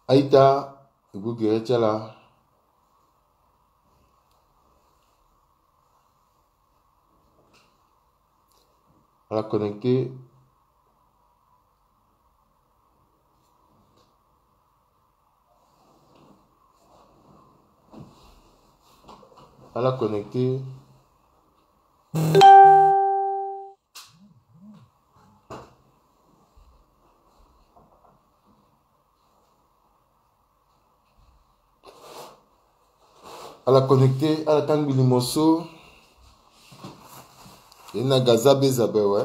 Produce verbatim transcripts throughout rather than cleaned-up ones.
Aita, e gbu gere ti ala. Ala connecté. Ala connecté. Ala connecté, ala kangbi limo so. E na Gaza be zabe we.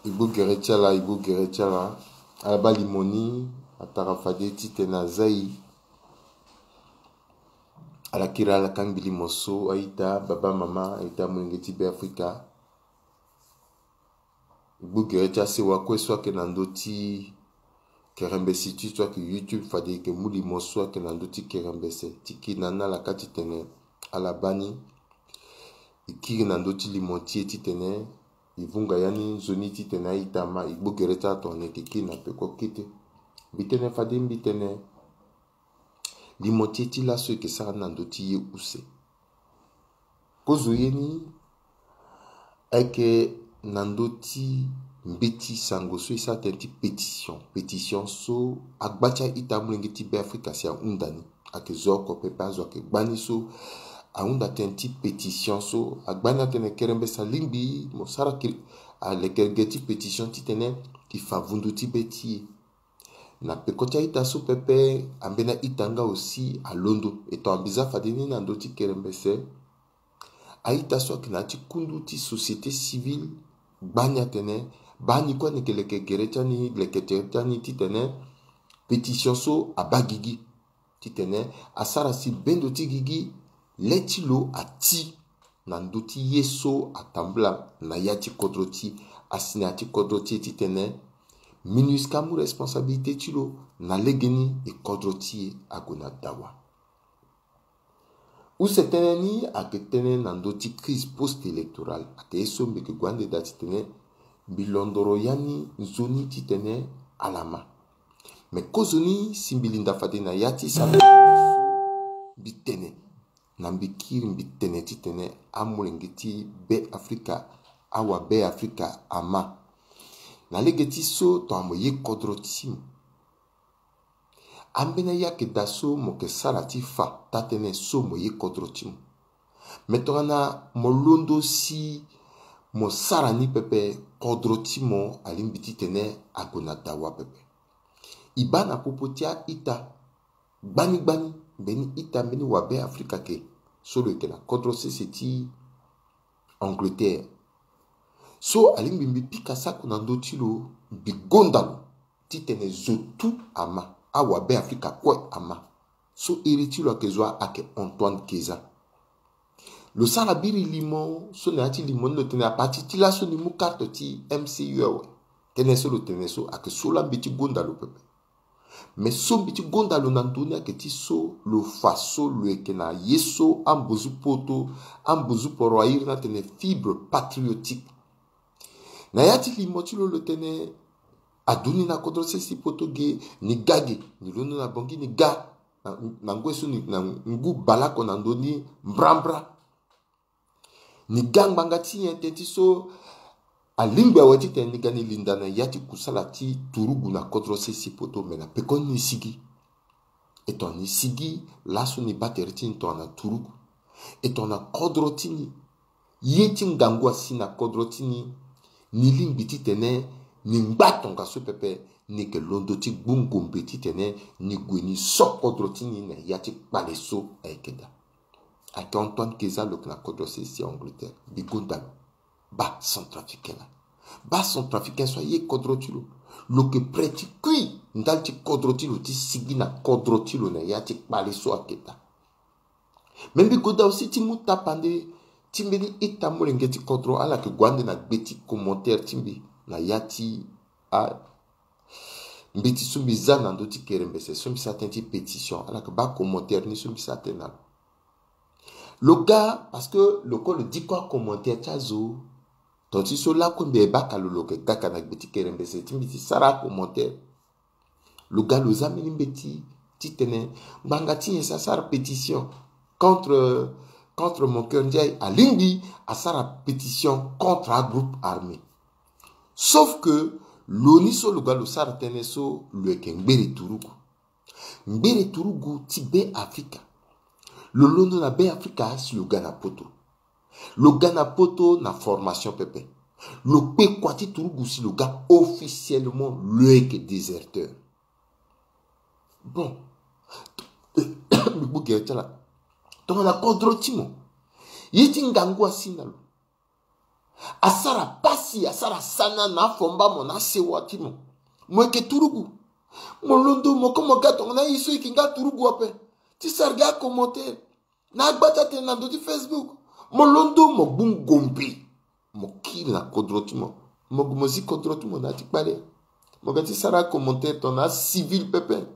E gbu gere ti ala, e gbu gere ti ala. Ala baa limo ni, atara fade titene a zia e. Ala kiri ala kangbi limo so, aita, baba, mama, aita, molenge ti Beafrika. E gbu gere ti asewa kue so ayeke na ndö ti kerembese ti so ayeke YouTube, fade e yeke mu limo so ayeke na ndö ti kerembese ti kiri na ni na ala ka titene ala baa ni. E kiri na ndö ti limo ti e titene e vunga ya ni nzoni titene aita ma e gbu gere ti ala tongana e yeke kiri na peko kete. Mbi tene fade mbi tene limo ti e ti laso e yeke sara ni na ndö ti ye use. Kozo ye ni ayeke na ndö ti mbeti sango so e sara tënë ti pétition. Pétition so agba ti a-ita amolenge ti Beafrika si ahunda ni. Ayeke zo oko pepe, azo ayeke gba ni so ahunda tënë ti pétition so agba ni atene kerembese alingbi mo sara kiri, alekere ge ti pétition titene e fa vundu ti be ti e. Na peko ti a-ita so pepe, ambeni a-ita nga aussi alondo. E tongana mbi za fade ni na ndö ti kerembese, a-ita so ayeke na ya ti kundu ti société civile gba ni atene baa ni kue ni yeke leke gere ti ani, leke tere ti ani titene pétition so abaa gigi. Titene asara si bendo ti gigi le ti lo ati na ndö ti ye so atambula na ya ti kodro ti e, asi na ya ti kodro ti e titene MINUSCA amu responsabilité ti lo na legeni e kodro ti e ague na dawa. Use tënë ni ayeke tënë na ndö ti crise post-électorale, ayeke ye so mbi yeke gue ande daa titene mbi londoro ya ni nzoni titene ala ma. Me kozoni si mbi linda fade na ya ti sara mbi tene na mbi kiri mbi tene titene amolenge ti Beafrika, awa Beafrika ama. Na lege ti so tongana mo ye kodro ti mo, ambeni aye ayeke daa so mo yeke sara ti fa taa-tënë so mo ye kodro ti mo. Me tongana mo londo si mo sara ni pepe, kodro ti mo alingbi titene ague na dawa pepe. E baa na popo ti a-ita gbani gbani, mbeni ita mbeni wa Beafrika ke so lo yeke na kodro sese ti Angleterre. So alingbi mbi pika sako na ndö ti lo, mbi gonda lo titene zo tu ama, awa Beafrika kue ama. So iri ti lo ayeke zo wa, ayeke Antoine Keza. Lo sara biri limo so na ya ti limo ni lo tene a partir ti laso ni mu karte ti M C U awe. Tënë so lo tene so ayeke so laa mbi ti gonda lo pepe. Me so mbi ti gonda lo na ndö ni ayeke ti so lo fa so lo yeke na ye so ambuzu poto, ambuzu poro airi ni atene fibre patriotique. Na ya ti limo ti lo lo tene aduti ni na kodro sese ti poto ge, ni ga ge, ni londo na Bangui ni ga na, na ngoi so ni na ngu baleoko na ndö ni mbrambra. Ni ga ngbanga ti nyen tënë ti so alingbi awe titene ni ga ni linda na ya ti kusala ti turugu na kodro sese ti poto, me na pekoni ni sigi. E tongana ni sigi laso ni baa tere ti ni tongana turugu. E tongana kodro ti ni, ye ti ngangu asi na kodro ti ni, ni lingbi titene ni ngba tongaso pepe, ni yeke londo ti gbu ngombe titene ni gue ni so kodro ti ni na ya ti kpale so ayeke daa. Ayeke Antoine Keza lo yeke na kodro sese ti Angleterre. Mbi gonda lo. Baa centrafricain laa. Baa centrafricain so aye kodro ti lo. Lo yeke prêt ti kui ndali ti kodro ti lo ti sigi na kodro ti lo na ya ti kpale so ayeke daa. Me mbi goda aussi ti mu tapande ti mbeni ita molenge ti kodro, ala yeke gue ande na gbe ti commentaire ti mbi na ya ti a mbeti so mbi za na ndö ti kerembese so mbi sara tënë ti pétition, ala yeke baa commentaire ni so mbi sara tënë na lo. Lo ga parce que lo kue lo diko acommentaire ti azo. Ton ti so lakue mbi e baka lo lo yeke kaka na gbe ti kerembese ti mbi ti sara commentaire. Lo ga lo za mbeni mbeti titene ngbanga ti nyen si asara pétition contre contre Moncœur Ndiaye, alingbi asara pétition contre agroupe armé. Sauf que lo ni so lo ga lo sara tënë so lo yeke ngbere turugu. Ngbere turugu ti Beafrika. Lo londo na Beafrika si lo ga na poto. Lo ga na poto na formation pepe. Lo kpe kua ti turugu si lo ga officiellement lo yeke déserteur. Bon. Mbi gbu gere ti ala. Tongana kodro ti mo, ye ti ngangu asi na lo. Asara pasi, asara sana na afomba mo na asewa ti mo. Mo yeke turugu. Mo londo mo ko mo ga tongana ye so e yeke nga turugu ape ti sara gi acommentaire na agba ti atene na ndo ti Facebook. Mo londo mo gbu ngombe. Mo kiri na kodro ti mo. Mo gue mo zi kodro ti mo na ya ti kpale. Mo ga ti sara acommentaire tongana acivil pepe.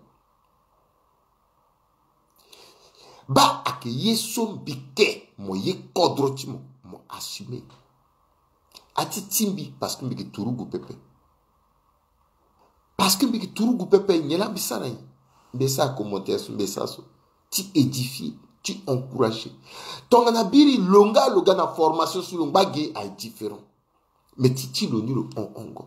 Baa ayeke ye so mbi ke mo ye kodro ti mo, mo assumer. Ati ti mbi parce que mbi yeke turugu pepe. Parce que mbi yeke turugu pepe, nyen laa mbi sara nyen? Mbi sara commentaire so, mbi sara so ti édifier, ti encourager. Tongana biri lo nga lo ga na formation so lo ngba ge aye différent. Mais ti ti lo ni lo hon hongo.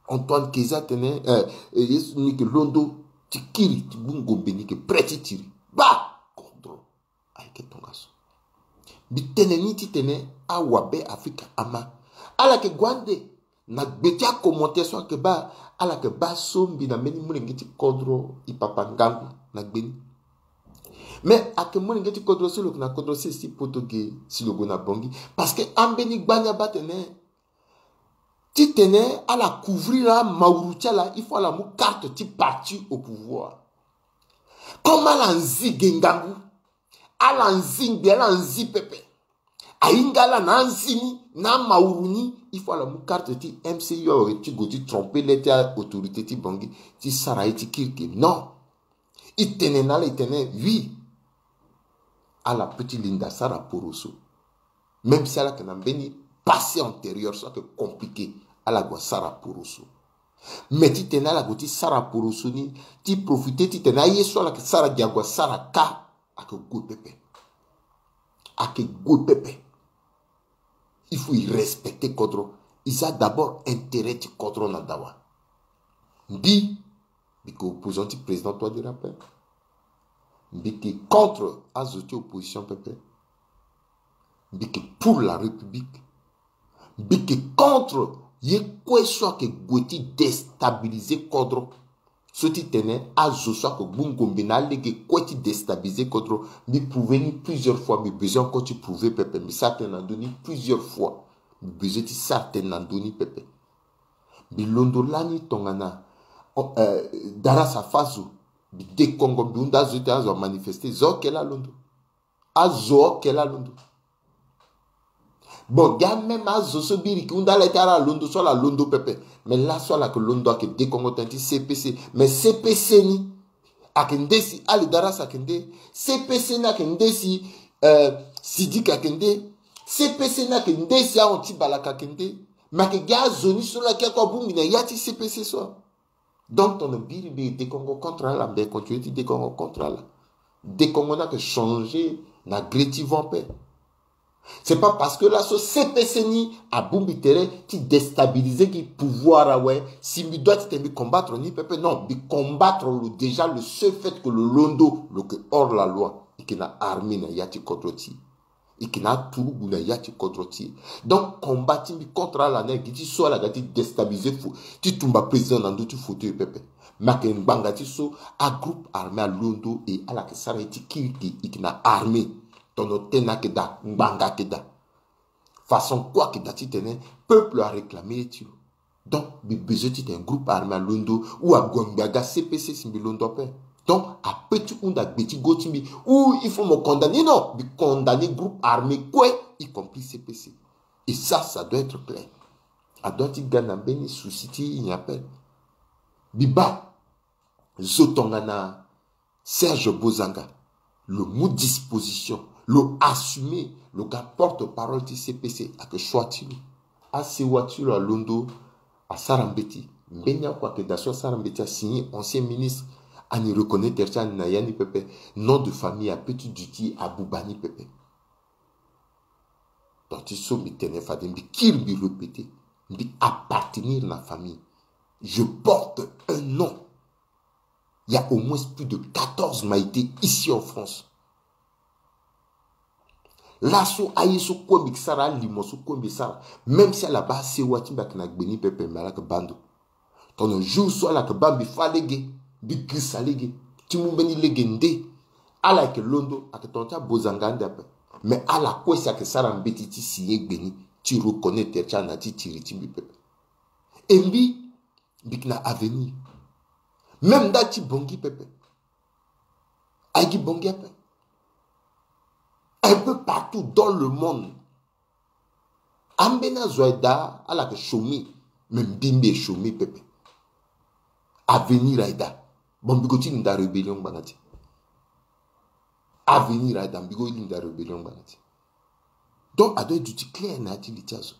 Antoine Keza atene eh, eh, ye so ni yeke londo ti kiri ti gbu ngombe, ni yeke prêt ti tiri. Baa kodro ayeke tongaso. Mbi tene ni titene awabe Afrika ama ala yeke gue ande na gbe ti acommentaire so ayeke baa, ala yeke baa so mbi na mbeni molenge ti kodro e papa ngangu na gbe ni. Mais ayeke molenge ti kodro so lo yeke na kodro sese ti poto ge si lo gue na Bangui. Parce que ambeni gbani abaa tene titene ala couvrir amawuru ti ala, il faut ala mu carte ti parti au pouvoir. Comme ala nzi ge ngangu, ala nzi ngbe, ala nzi pepe. Ahinga ala na anzi ni na amawuru ni, il faut ala mu carte ti M C U awe ti gue ti tromper le ti autorité ti Bangui ti sara ye ti kirikiri. Non. E tene na ala, e tene oui. Ala peut ti linda sara poroso. Même si ala yeke na mbeni passé antérieur so ayeke compliqué, ala gue asara poroso. Mais titene ala gue ti sara poroso ni, ti profiter titene aye so ala yeke sara gi ague asara kâ, ayeke gue pepe. Ayeke gue pepe. Il faut e respecter kodro. E za d'abord intérêt ti kodro na dawa. Mbi, mbi yeke opposant ti président Touadéra ape. Mbi yeke contre azo ti opposition pepe. Mbi yeke pour la République. Mbi yeke contre ye kue so ayeke gue ti déstabiliser kodro. So ti tene azo so ayeke gbu ngombe na alege kue ti déstabiliser kodro. Mbi prouver ni plusieurs fois, mbi besoin encore ti prouver pepe. Mbi sara tënë na ndö ni plusieurs fois. Mbi besoin ti sara tënë na ndö ni pepe. Mbi londo lani tongana, oh, eh, Darassa afa zo. Mbi dekongo, mbi hunda azo ti azo amanifester. Zo oke laa londo. Azo oke laa londo. Bon, ga même azo so biri ki hunda ala ti ala londo so ala londo pepe. Mais laso ala yeke londo ayeke dekongo tënë ti C P C. Mais C P C ni ayeke nde si Ali Darassa ayeke nde. C P C ni ayeke nde si, euh, Sidiki ayeke nde. C P C ni ayeke nde si ahon ti Balaka ayeke nde. Mais ayeke gi azo ni so laa ayeke akue abongbi na ya ti C P C so. Donc tongana biri mbi dekongo contre ala, mbi continuer ti dekongo contre ala. Dekongo ni ayeke changer na gre ti vent ape. C'est pas parce que laso C P C ni abongbi tere ti déstabiliser gi pouvoir awe, si mbi doit titene mbi combattre ni pepe. Non, mbi combattre lo déjà, le seul fait que lo londo, lo yeke hors la loi. E yeke na armée na ya ti kodro ti e. E yeke na aturugu na ya ti kodro ti e. Donc combat ti mbi contre ala ni ayeke gi ti so ala ga ti déstabiliser fo, ti tumba président na ndö ti fauteuil pepe. Mais ayeke ngbanga ti so agroupe armé alondo e ala yeke sara ye ti kirikiri, e yeke na armée. Tongana tënë ayeke daa, ngbanga ayeke daa. Façon kue ayeke daa titene peuple aréclamer ye ti lo. Donc mbi besoin titene groupe armé alondo ou ague ngbe aga C P C si mbi londo ape. Donc apeut ti hunda gbe ti go ti mbi ou il faut mo condamner. Non, mbi condamner groupe armé kue, y compris C P C. Et ça, ça doit être clair. Adoit ti ga na mbeni souci ti nyen ape. Mbi baa zo tongana Serge Bozanga, lo mu disposition, Lo assumer, lo ga porte-parole ti C P C, ayeke choix ti lo. Asewa ti lo alondo, asara mbeti. Mbeni oko ayeke daa so asara mbeti, asigné, ancien ministre, ani reconnaître ti ani na ya ni pepe. Nom de famille ape ti duti abuba ni pepe. Donc ti so mbi tene fade mbi kiri mbi répéter, mbi appartenir na famille. Je porte un nom. Il y a au moins plus de quatorze Maïté ici en France. Laso aye so kue mbi sara, alimo so kue mbi sara, même si ala baa asewa ti mbi ayeke na gbe ni pepe, mbi ala yeke baa ndo. Tongana jour so ala yeke baa mbi fâ lege, mbi girisa lege ti mu mbeni lege nde, ala yeke londo, ayeke tongana ti abozanga ande ape. Mais ala kue si ayeke sara mbeti ti signé gbe ni, ti reconnaître ti ala na ti tiri ti mbi pepe. E mbi, mbi yeke na avenir. Même nda ti Bangui pepe. Aye gi Bangui ape. Un peu partout dans le monde. Ambeni azo aye daa, ala yeke chômer. Mais mbi, mbi e chômer pepe. Avenir aye daa. Bon, mbi go ti linda rébellion ngbanga ti. Avenir aye daa, mbi go linda rébellion ngbanga ti. Donc, adoit duti clair na ya ti li ti azo.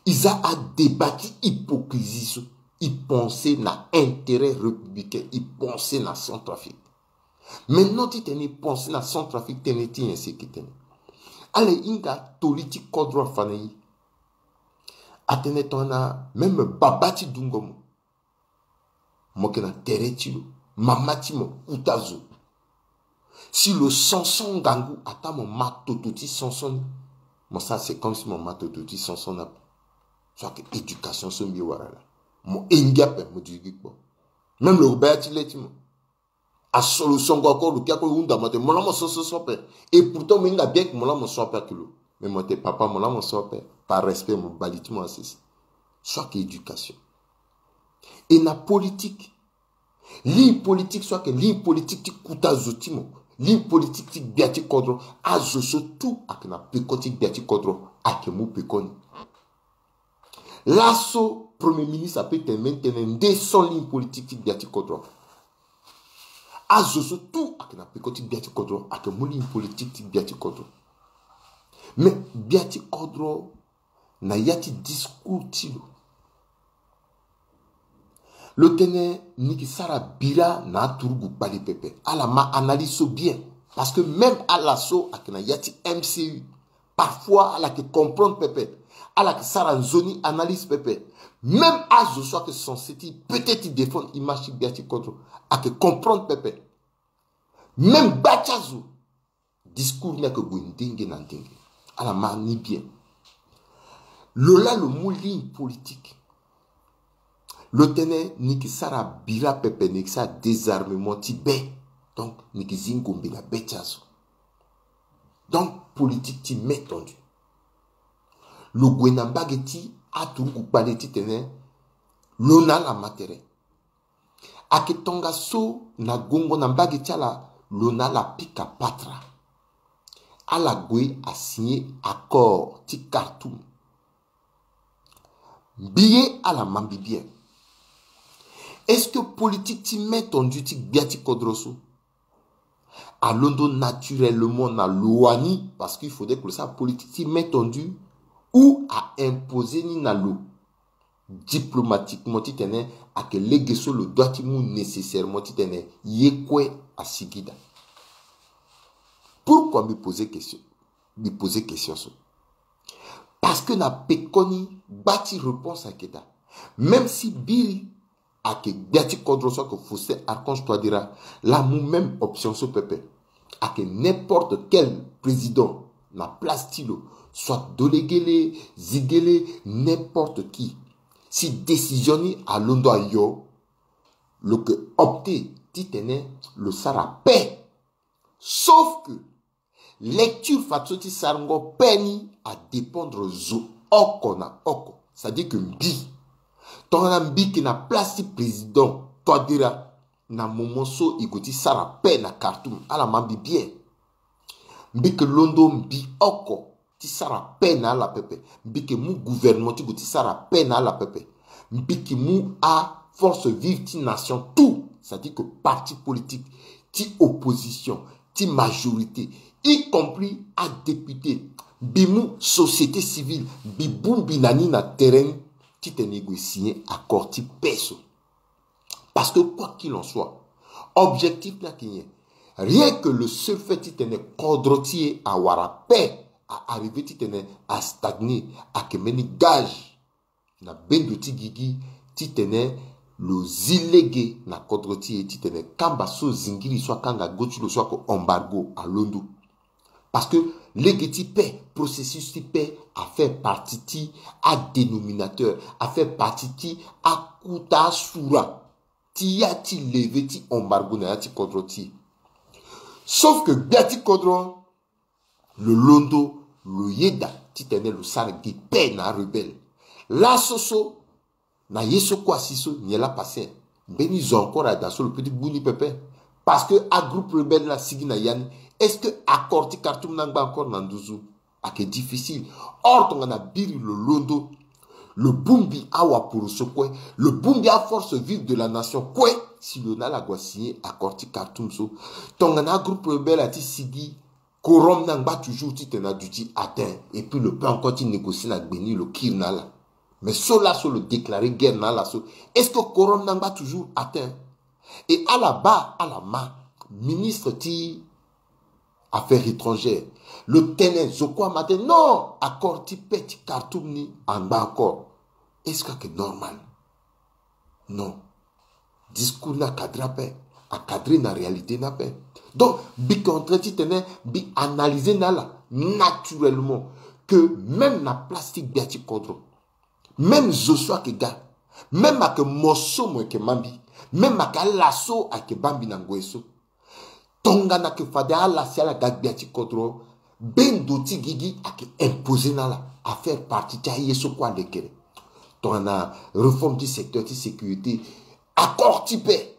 E za adébat ti hypocrisie so. E pense na intérêt républicain, e pense na Centrafrique. Maintenant, titene e pense na Centrafrique, tënë ti nyen si e yeke tene? Ala hinga toli ti kodro afa na e. Atene tongana même baba ti dungo mo, mo yeke na tere ti lo, mama ti mo kuta zo. Si lo sanson ngangu, ataa mo ma toto ti sanson ni, mo sara c'est comme si mo ma toto ti sanson ni ape. So ayeke éducation so mbi wara laa. Mo hingi ape, mo duti gi kpo. Même lo baa ya ti le ti mo. Aso lo songo oko, lo ke oko, lo hunda mo atene mo laa mo so so so ape. Et pourtant mo hinga bien ke mo laa mo so ape ayeke lo. Mais mo tene papa, mo laa mo so ape. Par respect, mo bali ti mo asese. So ayeke éducation. E na politique. Ligne politique so ayeke ligne politique ti kuta zo ti mo. Ligne politique ti gbia ti kodro. Azo so tout ayeke na peko ti gbia ti kodro, ayeke mu peko ni. Laso Premier ministre ape tene mbeni tënë nde sans ligne politique ti gbia ti kodro. Azo so tout ayeke na peko ti gbia ti kodro, ayeke mu ligne politique ti gbia ti kodro. Mais gbia ti kodro, na ya ti discours ti lo, lo tene ni yeke sara bira na aturugu kpale pepe. Ala ma analyse so bien. Parce que même ala so ayeke na ya ti M C U, parfois ala yeke comprendre pepe. Ala yeke sara nzoni analyse pepe. Même azo so ayeke censé ti peut-être ti défendre image ti gbia ti kodro, ayeke comprendre pepe. Même gba ti azo, discours ni ayeke gue ndenge na ndenge. Ala ma ni bien. Lo laa lo mu ligne politique. Lo tene ni yeke sara bira pepe, ni yeke sara désarmement ti be. Donc ni yeke zi ngombe na be ti azo. Donc politique ti main tendue. Lo gue na mbage ti aturugu kpale titene lo na ala ma tere. Ayeke tongaso na gongo na mbage ti ala, lo na ala pika patara. Ala gue asigné accord ti Khartoum. Mbi ye ala ma mbi bien. Est-ce que politique ti main tendue ti gbia ti kodro so alondo naturellement na lo wani, parce qu'il faudrait que lo sara politique ti main tendue, ou a imposer ni na lo diplomatiquement titene ayeke lege so lo doit ti mu nécessairement titene ye kue asigi daa. Pourquoi mbi poser question? Mbi poser question so parce que na pekoni gba ti réponse ayeke daa. Même si biri ayeke gbia ti kodro so ayeke Faustin Archange Touadéra, laa amu même option so pepe. Ayeke n'importe quel président na place ti lo, soit Dolegele, Ziguélé, n'importe qui. Si décision ni alondo ayo, lo yeke opter titene lo sara paix. Sauf que lecture fadeso ti sarango paix ni adépendre zo oko na oko. C'est-à-dire que mbi, tongana mbi yeke na place ti président Touadéra, na moment so e gue ti sara paix na Khartoum, ala ma mbi bien. Mbi yeke londo mbi oko ti sara paix na ala pepe. Mbi yeke mu gouvernement ti gue ti sara paix na ala pepe. Mbi yeke mu aforce vive ti nation tout, c'est-à-dire que parti politique, ti opposition, ti majorité, y compris adéputé, mbi mu société civile, mbi bongbi na ni na terrain titene e gue signer accord ti paix so. Parce que quoi qu'il en soit, objectif ni ayeke nyen? Rien que le seul fait titene kodro ti e awara paix, a arrivé titene a stagner, ayeke mbeni gage na bendo ti gigi titene lo zi lege na kodro ti e titene kamba so zingiri so akanga go ti lo so ayeke embargo alondo. Parce que lege ti paix, processus ti paix a fait partie ti adénominateur, a fait partie ti akuta asura ti ya ti leve ti embargo na ya ti kodro ti e. Sauf que gbia ti kodro lo londo, lo yeda titene lo sara gi paix na arebelle. Laso so, na ye so kue asi so, nyen laa passé? Mbeni zo encore ayeke daa so lo peut ti gbu ni pepe. Parce que agroupe rebelle ni asigi na ya ni. Est-ce que accord ti Khartoum ni angba encore na nduzu? Ayeke difficile. Or tongana biri lo londo, lo bongbi awaporoso kue, lo bongbi aforce vive de la nation kue, si lo na ala gue asigner accord ti Khartoum so, tongana agroupe rebelle ati sigi, quorum ni angba toujours titene aduti atteint, et puis lo peut encore ti négocier na gbe ni, lo kiri na ala. Mais so laso lo déclarer guerre na ala so, est-ce que quorum ni angba toujours atteint? Et ala baa ala ma ministre ti affaires étrangères, lo tene zo kue ama tene non, accord ti paix ti Khartoum ni angba encore. Est-ce que ayeke normal? Non. Discours ni acadré ape, acadré na réalité ni ape. Donc mbi yeke en train titene mbi analyser na ala naturellement que même na place ti gbia ti kodro, même zo so ayeke ga, même ayeke mo so mo yeke ma mbi, même ayeke ala so ayeke baa mbi na ngoi so, tongana ayeke fade ala si ala ga gbia ti kodro, bendo ti gigi ayeke imposer na ala, a faire partie ti aye so kue alekere. Tongana réforme ti secteur ti sécurité, accord ti paix,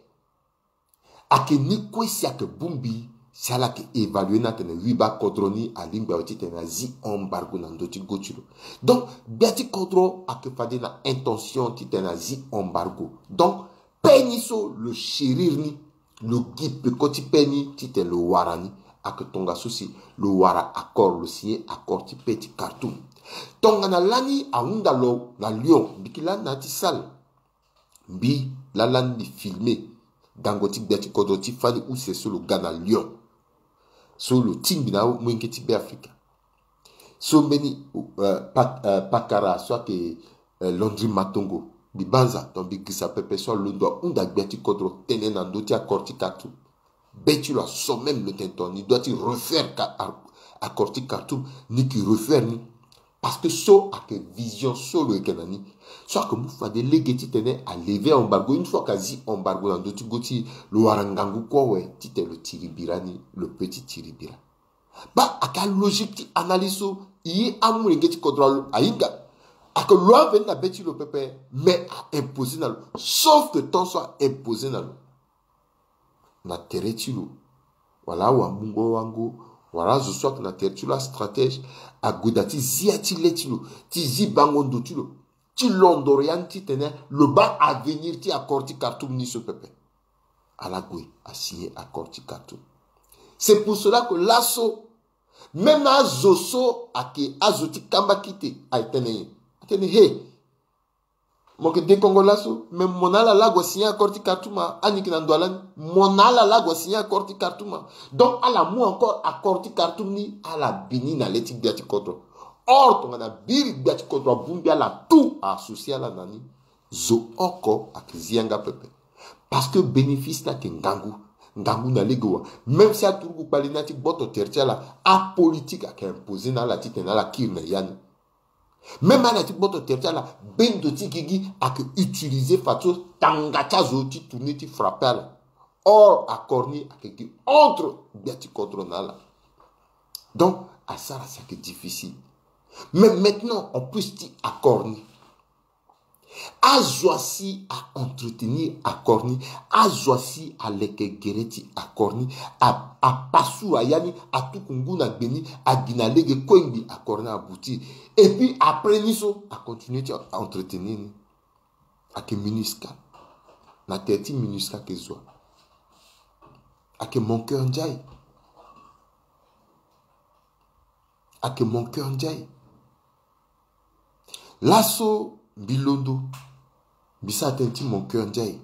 ayeke ni kue si ayeke bongbi si ala yeke évaluer ni atene oui baa kodro ni alingbi awe titene azi embargo na ndö ti go ti lo. Donc gbia ti kodro ayeke fade na intention titene azi embargo. Donc paix ni so lo chérir ni, lo gi peko ti paix ni titene lo wara ni. Ayeke tongaso si lo wara accord, lo signer accord ti paix ti Khartoum. Tongana lani ahunda lo na Lyon, mbi yeke lani na ya ti salle. Mbi laa lani mbi filmer gango ti gbia ti kodro ti fani use so lo ga na Lyon, so lo tingbi na amolenge ti Beafrika. So mbeni euh, pa, euh, pakara so ayeke euh, Landry Matongo, mbi banza, donc mbi girisa pepe so alondo ahunda gbia ti kodro tënë na ndö ti accord ti Khartoum. Be ti lo aso même lo tene tongana ni doit ti refaire ka, accord ti Khartoum, ni yeke refaire ni. Parce que so ayeke vision so lo yeke na ni. So ayeke mu fade lege titene a lever embargo, une fois ka zi embargo na ndö ti go ti e, lo wara ngangu kue awe titene lo tiri bira ni, lo peut ti tiri bira. Baa ayeke alogique ti analyse so e ye amolenge ti kodro ahinga. Ayeke lo aveni na be ti lo pepe, mais a imposer na lo. Sauf que tant so a imposer na lo, na tere ti lo, wala awamungo wango, wala azo so ayeke na tere ti lo, astratège, ague daa ti zi ya ti le ti lo, ti zi bango ndo ti lo, ti londoro ya ni titene lo baa avenir ti accord ti Khartoum ni so pepe. Ala gue asigner accord ti Khartoum. C'est pour cela que laso, même azo so ayeke azo ti kamba kite, aye tene nyen? Atene he, mo yeke dekongo laso, mais mo na ala laa gue asigner accord ti Khartoum a, ani yeke na ndo ya lani, mo na ala laa gue asigner accord ti Khartoum a. Donc ala mu encore accord ti Khartoum ni, ala bi ni na le ti gbia ti kodro. Or tongana biri gbia ti kodro abongbi ala tout, a associer ala na ni, zo oko ayeke zi yanga pepe. Parce que bénéfice ni ayeke ngangu, ngangu na lege wa. Même si aturugu kpali ni ati gboto tere ti ala, apolitique ayeke imposer na ala titene ala kiri na ya ni. Même ala ti gboto tere ti ala, bendo ti gigi ayeke utiliser fadeso tanga ti azo ti tourner ti frapper ala. Or accord ni ayeke gi entre gbia ti kodro na ala. Donc asara si ayeke difficile. Mais maintenant en plus ti accord ni, azo asi a entretenir accord ni, azo asi aleke gere ti accord ni, a, apasura ya ni, atuku ngu na gbe ni, agi na lege kue ngbi accord ni aboutir. Et puis après ni so a continuer ti entretenir ni. Ayeke MINUSCA. Na tere ti MINUSCA ayeke zo wa? Ayeke Mon Cœur Ndiaye. Ayeke Mon Cœur Ndiaye. Laso mbi londo, mbi sara tënë ti Mon Cœur Ndiaye.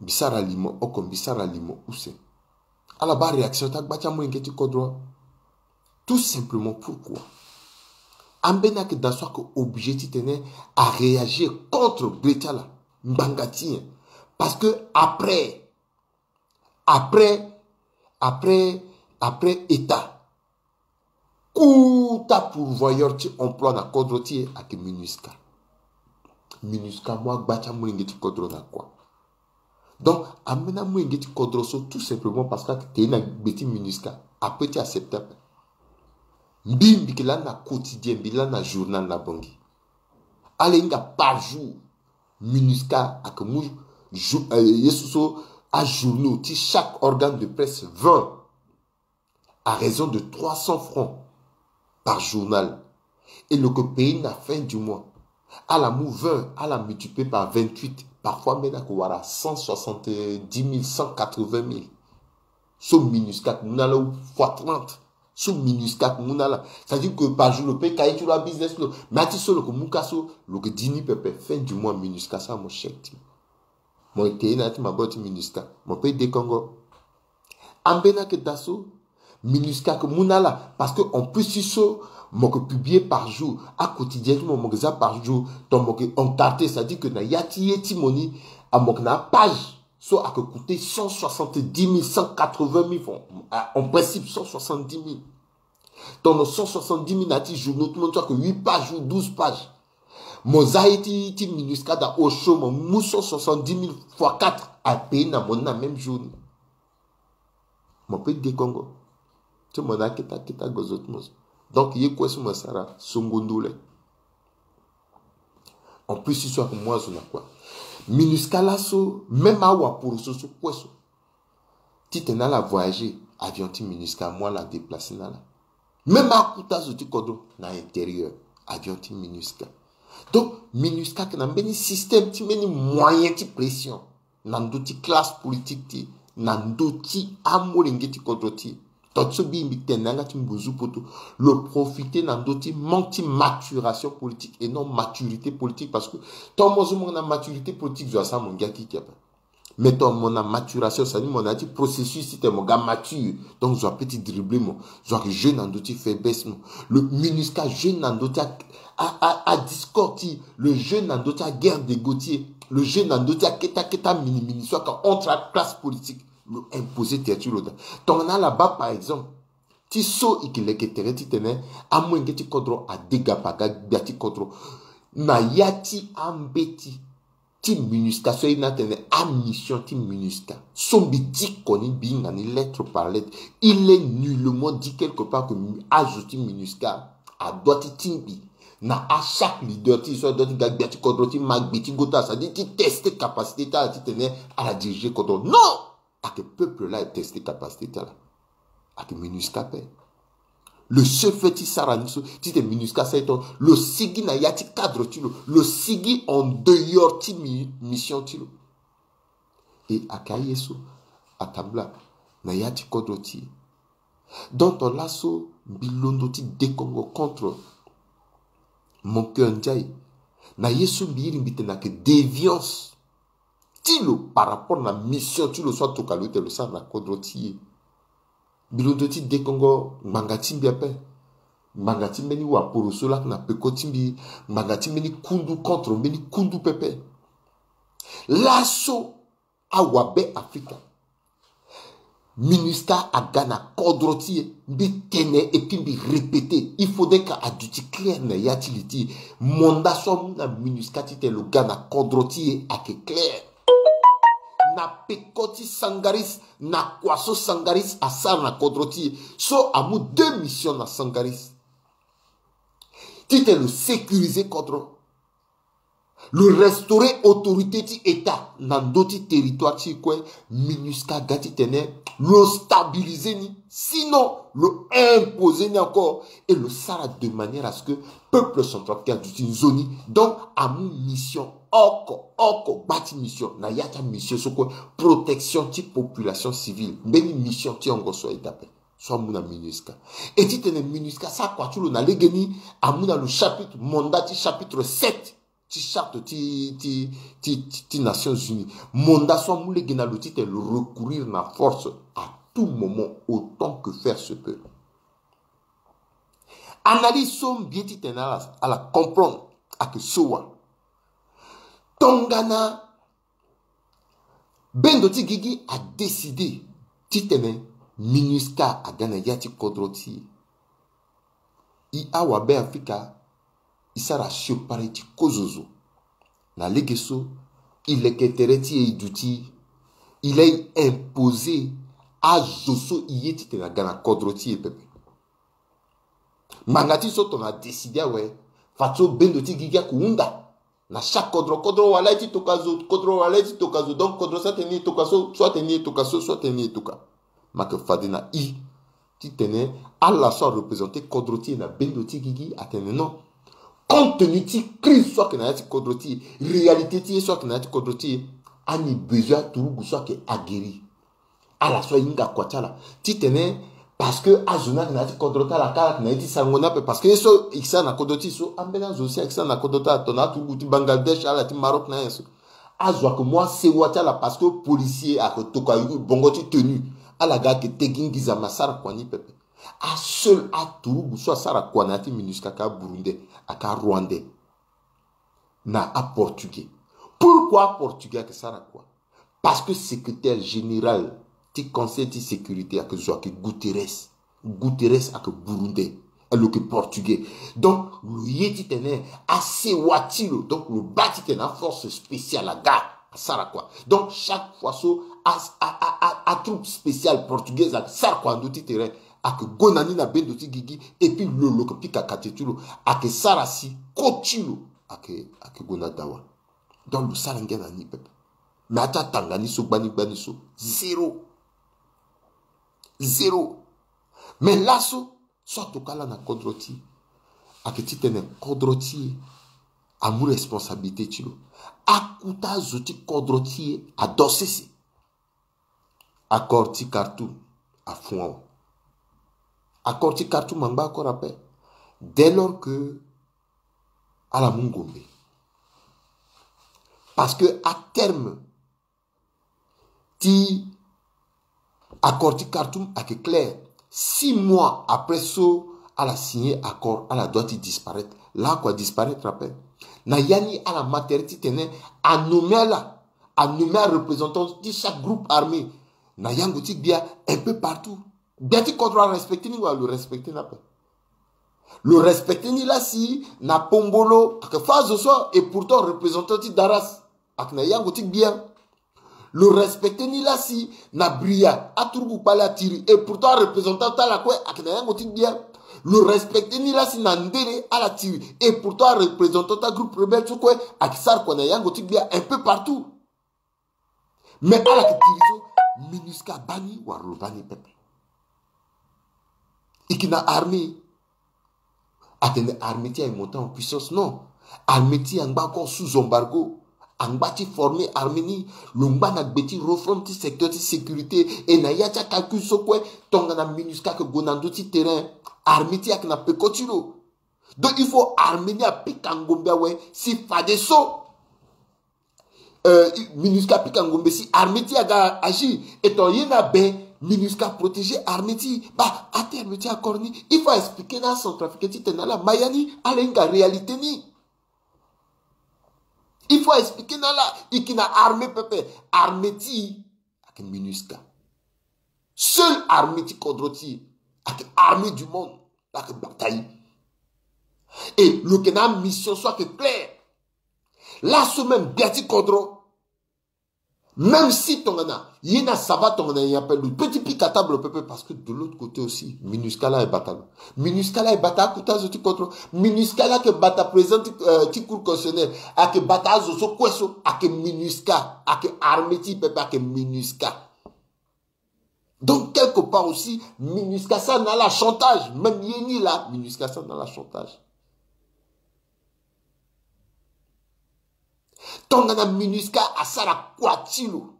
Mbi sara limo oko, mbi sara limo use. Ala baa réaction ti agba ti amolenge ti kodro. Tout simplement pourquoi? Ambeni ayeke daa so ayeke obligé titene aréagir contre gbe ti ala ngbanga ti nyen? Parce que après, après, après, après état, kota pourvoyeur ti emploi na kodro ti e ayeke MINUSCA. MINUSCA amu agba ti amolenge ti kodro na kua. Donc ambeni amolenge ti kodro so, tout simplement parce que ayeke te na gbe ti MINUSCA, ape ti accepter ape. Mbi, mbi yeke lani na quotidien, mbi lani na journal na Bangui. Ala hinga par jour, MINUSCA ayeke mu jou, euh, ye so so ajournaux ti chaque organe de presse vingt, à raison de trois cents francs par journal. Et lo yeke payer na fin du mois. Ala mu vingt, ala multiplier par vingt-huit. Parfois même ayeke wara cent soixante-dix mille, cent quatre-vingt mille. So MINUSCA ayeke mu na ala, ou fois trente. So MINUSCA ayeke mu na ala. C'est-à-dire que par jour lo peut ka ye ti lo, abusiness ti lo. Mais ati so lo yeke mu ka so, lo yeke di ni pepe, fin du mois MINUSCA asara mo chèque ti mo. Mo yeke ye na ya ti maboko ti MINUSCA, mo peut dekongo. Ambeni ayeke daa so, MINUSCA ayeke mu na ala, parce que en plus ti so mo yeke publier par jour, aquotidien ti mo, mo yeke za par jour, donc mo yeke encarter, c'est-à-dire que na ya ti ye ti mo ni, ah, mo yeke na apage so ayeke coûter cent soixante-dix mille, cent quatre-vingt mille francs, ah, en principe cent soixante-dix mille. Tongana cent soixante-dix mille na ya ti journaux ti mo ni so ayeke huit pages ou douze pages. Mo za ye ti, ti MINUSCA daa au chaud, mo mu cent soixante-dix mille fois quatre, apayer na mo ni na même jour ni. Mo peut dekongo. Ti mo na aketa aketa gozo ti mo so. Donc ye kue so mo sara songo ndole. En plus ti so ayeke mu azo na kua. MINUSCA laso, même awaporoso so kue so, titene ala voyager, avion ti MINUSCA amu ala déplacer na ala. Même akuta zo ti kodro na intérieur, avion ti MINUSCA. Donc MINUSCA ayeke na mbeni système ti mbeni moyen ti pression na ndö ti classe politique ti e, na ndö ti amolenge ti kodro ti e. Tonga so mbi, mbi tene na yanga ti mbuzu poto, lo profiter na ndö ti manque ti maturation politique et non maturité politique, parce que tongana mo zo mo na maturité politique, zo asara mo ngia kiki ape. Mais tongana mo na maturation, c'est-à-dire mo na ya ti processus titene mo ga mature, donc zo apeut ti dribbler mo. Zo ayeke jouer na ndö ti faiblesse mo. Lo MINUSCA ajoue na ndö ti a, a, a, adiscorde ti e, lo joue na ndö ti aguerre d'ego ti e, lo joue na ndö ti akete akete amini mini so ayeke entre aclasse politique. Lo imposer tere ti lo daa. Tongana ala baa par exemple ti so e yeke leke tere titene amolenge ti kodro adegapa ga gbia ti kodro na ya ti ambeti ti MINUSCA so aye ni atene amission ti MINUSCA. So mbi diko ni, mbi hinga ni lettre par lettre. Il est nullement dit quelque part que mi, azo ti MINUSCA adoit ti tingbi na achaque leader ti e so adoit ti ga gbia ti kodro ti ma gbe ti gota, c'est-à-dire ti tester capacité ti ala titene ala diriger kodro. Non! Ayeke peuple la e tester capacité ti ala. Ayeke MINUSCA ape. Lo seul fait ti sara ni so, titene MINUSCA asara e tonga, lo sigi na ya ti cadre ti lo, lo sigi en dehors ti mi, mission ti lo. E ayeke aye so atambula na ya ti kodro ti e. Donc laso mbi londo ti dekongo contre Mon Cœur Ndiaye na ye so mbi iri mbi tene ayeke déviance ti lo par rapport na mission ti lo so atokua lo tene lo sara na kodro ti e. Mbi londo ti dekongo ngbanga ti mbi ape. Ngbanga ti mbeni waporo so laa na peko ti mbi. Ngbanga ti mbeni kundu contre mbeni kundu pepe. Laso awabe Afrika, MINUSCA aga na kodro ti e. Mbi tene et puis mbi répéter, il faudrait que aduti clair na ya ti li ti e. Mandat so amu na MINUSCA titene lo ga na kodro ti e ayeke clair. Na peko ti Sangaris, na kua so Sangaris asara na kodro ti e, so amu deux missions na Sangaris. Titene lo sécuriser kodro, lo restaurer autorité ti État na ndö ti territoire ti e kue, MINUSCA aga titene lo stabiliser ni, sinon lo imposer ni encore, et lo sara de manière à ce que peuple centrafricain aduti nzoni. Donc amu mission oko, oko gba ti mission na ya ti amission so kue, protection ti population civile. Mbeni mission ti hongo so aye daa ape. so amu na MINUSCA. E titene MINUSCA asara kua ti lo na legeni, amu na lo chapitre, mandat ti chapitre sept ti charte ti, ti, ti, ti, ti Nations Unies. Mandat so amu lege na lo titene lo recourir na force à tout moment, autant que faire se peut. Analyse so mbi ye titene ala, ala comprendre ayeke so wa. Tongana bendo ti gigi adécide titene MINUSCA aga na ya ti kodro ti e. E awabe Afrika, e sara siokpari ti kozo zo. Na lege so, e leke tere ti e, e duti e, e lai imposer azo so e ye titene aga na kodro ti e pepe. Ngbanga ti so tongana adécide awe, fadeso bendo ti gigi ayeke hunda na chaque kodro, kodro wala ye ti toka zo, kodro wala ye ti toka zo. Donc kodro so atene ni e toka so, so atene ni e toka so, so atene ni e toka. Mbi yeke fade na e titene ala so areprésenter kodro ti e na bendo ti gigi atene non. Compte tenu ti crise so ayeke na ya ti kodro ti e, réalité ti ye so ayeke na ya ti kodro ti e, ani besoin aturugu so ayeke aguerri. Ala so ahinga kua ti ala titene, parce que azo ni ayeke na ya ti kodro ti ala kâ, ala yeke na ye ti sarango ni ape. Parce que ye so e sara na kodro ti e so, ambeni azo si ayeke sara na kodro ti ala, tongana aturugu ti Bangladesh, ala ti Maroc na anyen so. Azo ayeke mu asewa ti ala parce que policier ayeke tokua bongo ti tenue. Ala ga ayeke tegi nginza me asara kua ni pepe. Aseul aturugu so asara kua na ya ti MINUSCA ayeke aBurundais, ayeke aRwandais, na aPortugais. Pourquoi aPortugais ayeke sara kua? Parce que secrétaire général ti Conseil ti sécurité ayeke zo ayeke Guterres. Guterres ayeke Burundais, lo yeke Portugais. Donc lo ye titene asewa ti lo, donc lo baa titene aforce spéciale aga asara kua. Donc chaque fois so a, a, a, a, atroupe spéciale portugaise ayeke sara kua na ndö ti terrain, ayeke gue na ni na bendo ti gigi, et puis lo, lo yeke pika kate ti lo, ayeke sara si koti lo ayeke, ayeke gue na dawa. Donc lo sara ngia na ni pepe. Mais ata tanga ni so gbani gbani so, zéro. Zéro. Mais laso so atoka ala na kodro ti e, ayeke titene kodro ti e amu responsabilité ti lo. Akota azo ti kodro ti e ado sese. Accord ti Khartoum afon awe. Accord ti Khartoum angba encore ape. Dès lors que ala mu ngombe. Parce que aterme ti accord ti Khartoum ayeke clair. Six mois après so ala signé accord, ala doit ti disparaître. Laa kua disparaître ape. Na ya ni ala ma tere titene anommé ala, anommé areprésentant ti chaque groupe armé na yango ti gbia un peu partout. Gbia ti kodro arespecté ni, wala lo respecté ni ape? Lo respecté ni laa si na Pombolo ayeke fâ azo so, et pourtant représentant ti Daras ayeke na yango ti gbia. Lo respecté ni laa si na Bria aturugu kpale atiri, et pourtant areprésentant ti ala kue ayeke na yango ti gbia. Lo respecté ni laa si na Ndele ala tiri, et pourtant areprésentant ti agroupe rebelle so kue ayeke sara kua na yango ti gbia un peu partout. Mais ala yeke tiri so, MINUSCA abaa ni wala lo baa ni pepe? E yeke na armée. Atene armée ti e aye monté en puissance, non. Armée ti e angba encore sous embargo. Angba ti former armée ni. Lo ngba na gbe ti réforme ti secteur ti sécurité. E na ya ti acalcul so kue, tongana MINUSCA ayeke gue na ndö ti terrain, armée ti e ayeke na peko ti lo. Donc il faut armée ni apika ngombe awe si fadeso, euh, MINUSCA apika ngombe si armée ti e aga agir. Etant ye ni abe, MINUSCA protéger armée ti e. Baa, aterme ti accord ni, il faut expliquer na acentrafricain titene ala ma ya ni, ala hinga réalité ni. Il faut expliquer na ala. E yeke na armée pepe. Armée ti e ayeke MINUSCA. Seule armée ti kodro ti e ayeke armée du monde. Laa ayeke bata e. Et lo yeke na amission so ayeke claire. Laso même gbia ti kodro, même si tongana ye ni asava tongana nyen ape, lo peut ti pika table pepe, parce que de l'autre côté aussi MINUSCA laa e bata lo. MINUSCA laa e bata akota azo ti kodro. MINUSCA laa ayeke bata président ti, euh, ti cour constitutionnelle, ayeke bata azo so kue so, ayeke MINUSCA, ayeke armée ti e pepe, ayeke MINUSCA. Donc quelque part aussi MINUSCA asara na ala chantage. Même ye ni laa MINUSCA asara na ala chantage. Tongana MINUSCA asara kua ti lo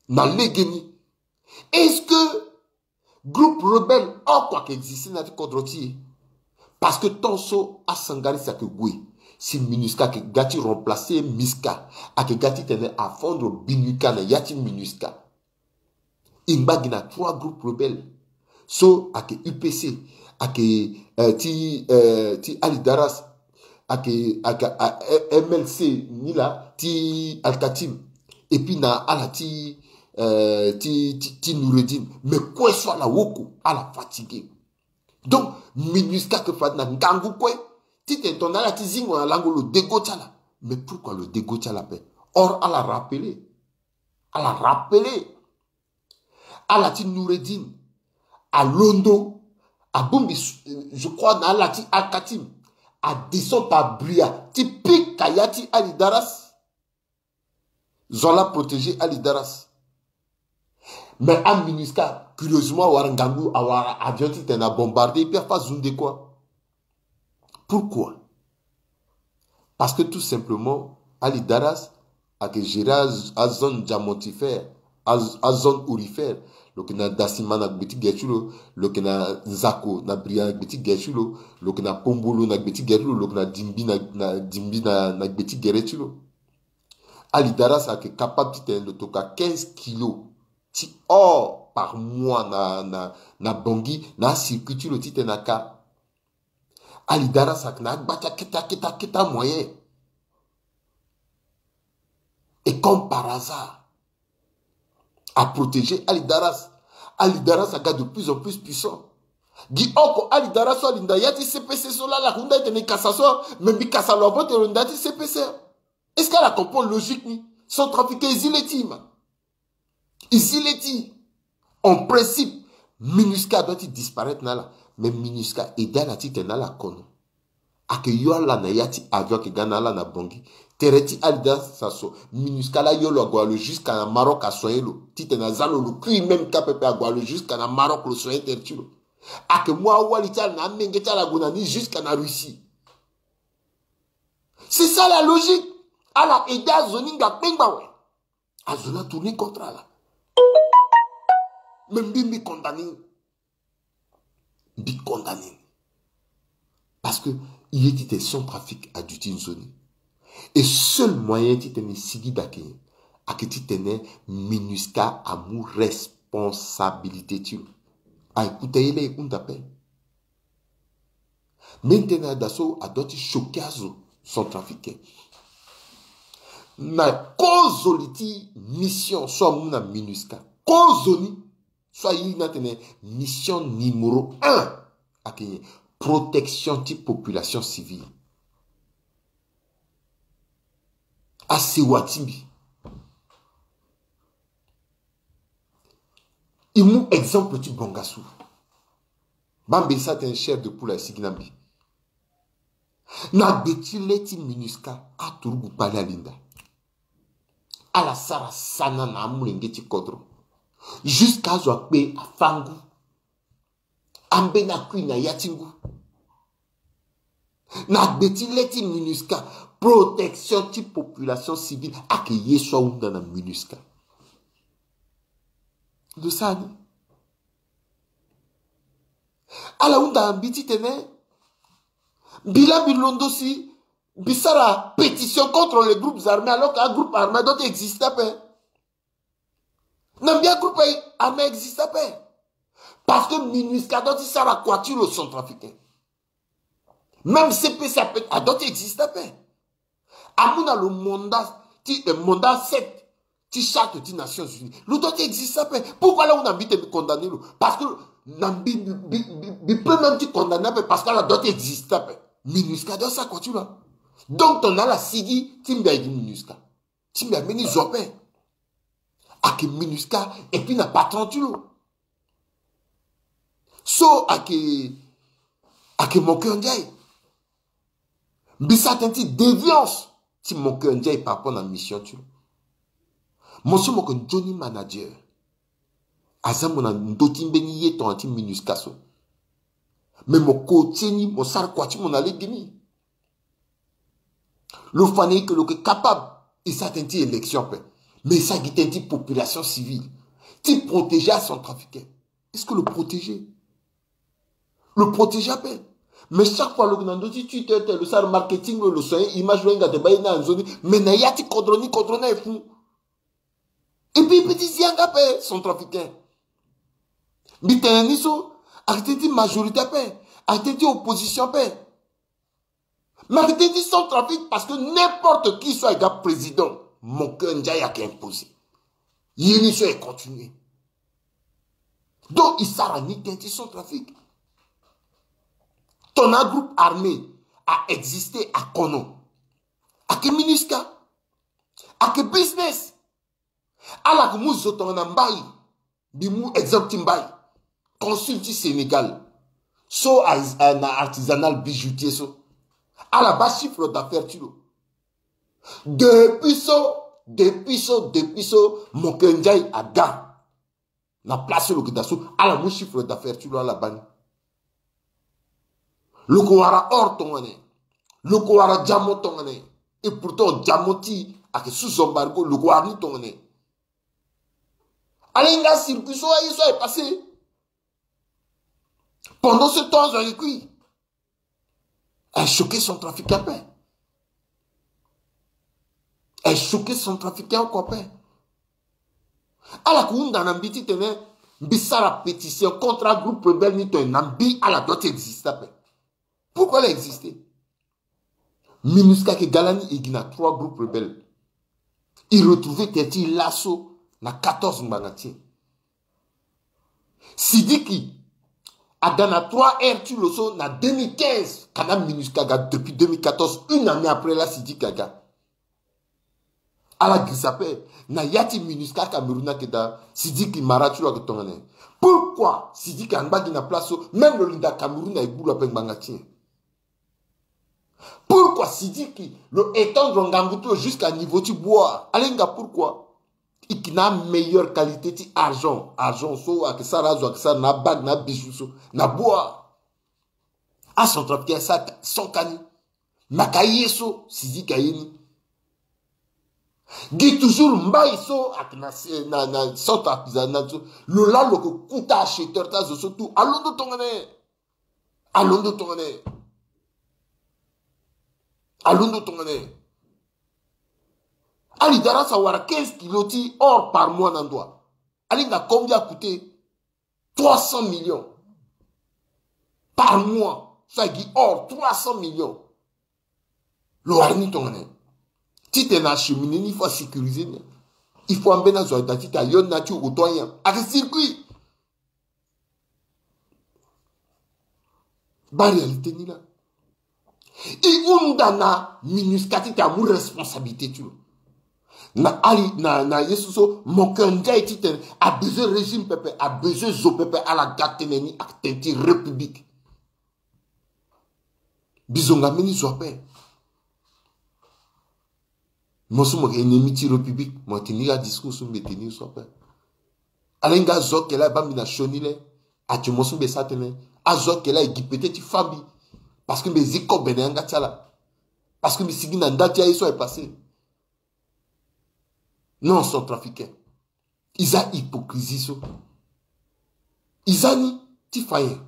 na legeni, est-ce que Groupe rebelle oko ayeke existe na ya ti kodro ti e. Parce que tant so asangarisi ayeke gue, si MINUSCA ayeke ga ti remplacer MISCA, ayeke ga titene afondre BINUCA na ya ti MINUSCA. E ngba gi na trois groupes rebelles. So ayeke U P C, ayeke, eh, ti, eh, ti Ali Daras, ayeke, ayeke, ah, eh, M L C ni laa ti Al-Katim. Et puis na ala ti, eh, ti, ti, ti Noureddine. Mais kue so ala woko, ala fatigué. Donc MINUSCA ayeke fade na ngangu kue titene tongana ala ti zingo na lango lo dego ti ala. Mais pourquoi lo dego ti ala ape? Or ala rappeler, ala rappeler, ala ti Noureddine alondo, abongbi, je crois, na ala ti Al-Katim, adescend abria ti pika ya ti Ali Daras. Zo ala protéger Ali Daras. Mais aMINUSCA, curieusement, awara ngangu, awara avion titene abombarder, et puis afa zunde kua. Pourquoi? Parce que tout simplement, Ali Daras ayeke gérer az-, azone diamantifère, az-, azone aurifère. Lo yeke na Dasima na gbe ti gere ti lo, lo yeke na Nzako na bria na gbe ti gere ti lo, lo yeke na Pombolo na gbe ti gere ti lo, lo yeke na Dimbi na, na Dimbi na, na gbe ti gere ti lo. Ali Daras ayeke capable titene lo toka quinze kilos ti or par mois na, na, na Bangui, na acircuit ti lo titene aka. Ali Daras ayeke na agba ti akete, akete, akete amoyen. Et comme par hasard, aprotéger Ali Daras. Ali Daras aga de plus en plus puissant. Gi oko Ali Daras so alinda ya ti C P C so laa, ala hunda titene e kasa so, mais mbi kasa lo avant titene lo linda ya ti C P C. Est-ce que ala comprendre logique ni? Centrafricain, e zi le ti e ma. E zi le ti e. En principe, MINUSCA doit ti disparaître na ala. Mais MINUSCA aidé ala titene ala kono. Ayeke yo ala na ya ti avion, ayeke ga na ala na Bangui. Tere ti Ali Daras so, MINUSCA laa yo lo ague na lo jusqu'à na Maroc asoigner lo. Titene aza lo, lo kui même ka pepe, ague na lo jusqu'à na Maroc lo soigner tere ti lo. Ayeke mu awali ti ala na amenge ti ala ague na ni jusqu'à na Russie. C'est ça la logique. Ala aidé azo ni nga kpengba awe. Azo ni atourner contre ala. Mais mbi, mbi condamné ni. Mbi condamné ni. Parce que e ye titene Centrafrique aduti nzoni. Et seul moyen titene e sigi daa, ayeke titene MINUSCA amu responsabilité ti lo. Aye kota ye laa e hunda ape. Mbi tene na daa so adoit ti choquer azo centrafricain. Na kozoni ti mission so amu na MINUSCA. Kozoni so aye ni atene mission numéro un ayeke protection ti population civile. Asewa ti mbi. E mu exemple ti Bangassou. Baa mbeni sa atene chair de poule asigi na mbi. Na gbe ti le ti MINUSCA, aturugu kpale alinda. Ala sara sana na amolenge ti kodro. Jusqu'à azo akpe afa ngu. Ambeni akui na ya ti ngu. Na gbe ti le ti MINUSCA, protection ti population civile ayeke ye so ahunda na MINUSCA. Lo sara ni. Ala hunda na mbi titene mbi laa mbi londo si mbi sara pétition contre les groupes armés, alors que agroupe armé adoit ti existe ape. Na mbi, agroupe armé existe ape. Parce que MINUSCA adoit ti sara kua ti lo centrafricain. Même C P C ape adoit ti existe ape. Amu na lo mandat ti, eh, mandat sept ti charte ti Nations Unies. Lo doit ti existe ape. Pourquoi ala hunda mbi titene mbi condamné lo? Parce que na mbi, mbi, mbi, mbi peut même ti condamné ape parce que ala doit ti existe ape. MINUSCA doit sara kua ti lo. Donc tongana ala sigi ti mbi aye gi MINUSCA, ti mbi ambeni zo ape. Ayeke MINUSCA et puis na patron ti lo. So ayeke, ayeke Moncœur Ndiaye. Mbi sara tënë ti déviance ti Moncœur Ndiaye par rapport na mission ti lo. Mo so mo yeke nzoni manager, aza mo na ndö ti mbeni ye tongana ti MINUSCA so. Mais mo ko ti ni, mo sara kua ti mo na legeni. Lo fa na e ke lo yeke capable, e sara tënë ti élection ape. Mais e sara gi tënë ti population civile ti protéger acentrafricain. Est-ce que lo protéger? Lo protéger ape. Mais chaque fois lo yeke na ndö ti Twitter te, lo sara marketing, lo lo soigner image, lo hinga te baa ye ni na nzoni. Mais na ya ti kodro ni, kodro ni aye fou. Et puis e peut ti zi yanga ape, Centrafricain. Mbi tene ni so, ayeke tënë ti majorité ape, ayeke tënë ti opposition ape. Mais ayeke tënë ti Centrafrique, parce que n'importe qui so aye ga président, Moncœur Ndiaye ayeke imposer. Ye ni so aye continuer. Donc e sara ni tënë ti Centrafrique. Tongana groupe armé a exister akono, ayeke MINUSCA, ayeke business. Ala yeke mu zo tongana Mbaye. Mbi mu exemple ti Mbaye, consul ti Sénégal so, a, a, na artisanal bijoutier so. Ala baa chiffre d'affaires ti lo. Depuis so, depuis so, depuis so Moncœur Ndiaye aga na place so lo yeke daa so, ala mu chiffre d'affaires ti lo, ala baa ni. Lo yeke wara or tongana nyen? Lo yeke wara diamant tongana nyen? Et pourtant diamant ti e ayeke sous embargo, lo yeke wara ni tongana nyen? Ala hinga circuit so, aye so aye passé. Pendant ce temps azo ayeke kui. Aye choqué Centrafricain ape. Aye choqué Centrafricain oko ape. Ala yeke hunda na mbi titene mbi sara pétition contre agroupe rebelle ni, tongana mbi ala doit ti exister ape. Pourquoi ala exister? MINUSCA ayeke ga lani, e gi na trois groupes rebelles. E retrouver tene ti laso na quatorze ngbanga ti e. Sidiki aga na trois R ti lo so na deux mille quinze, ka na MINUSCA aga depuis deux mille quatorze, une année après la Sidiki aga. Ala girisa ape na ya ti MINUSCA Cameroun ayeke daa, Sidiki mara ti lo ayeke tongana nyen? Pourquoi Sidiki angba gi na place so? Même lo linda Cameroun aye gbu lo ape ngbanga ti nyen? Pourquoi Sidiki lo étendre ngangu ti lo jusqu'à niveau ti Boa? Ala hinga pourquoi? E yeke na meilleure qualité ti argent, argent so ayeke sara azo ayeke sara na abague na abijoux so na Boa. Acentrafricain asara sans kani. Maka ye so Sidiki aye ni. Gi toujours Mbaye so ayeke na, na, na centre artisanal so, lo laa lo yeke kuta acheteur ti azo so tout. Alondo tongana nyen? Alondo tongana nyen? Alondo tongana nyen? Ali dara sa wara quinze kilos ti or par mois na ndo wa. Ali hinga combien a coûté? Trois cents millions par mois. So aye gi or trois cents millions. Lo wara ni tongana nyen? Titene acheminer ni, il faut asécuriser ni. Il faut ambeni azo aye daa titene ayo ni na ya ti oto anyen. Ayeke circuit. Baa réalité ni laa. E hunda na MINUSCA titene amu responsabilité ti lo. Na ali, na, na ye so so Moncœur Ndiaye titene abezoin régime pepe, abezoin zo pepe, ala ga tënë ni, atene ti République. Mbi zonga mbeni zo ape. Mo so mo yeke ennemi ti République, mo tene ni adiscours so mbi tene ni so ape. Ala hinga azo ake laa e baa mbi na sioni le. Ati mo so mbi sara tënë. Azo ake laa e gi pete ti fâ mbi. Parce que mbi zi kobe na yanga ti ala. Parce que mbi sigi na nda ti aye so aye passé. Non, centrafricain. E za hypocrisie so. E za ni ti fa nyen?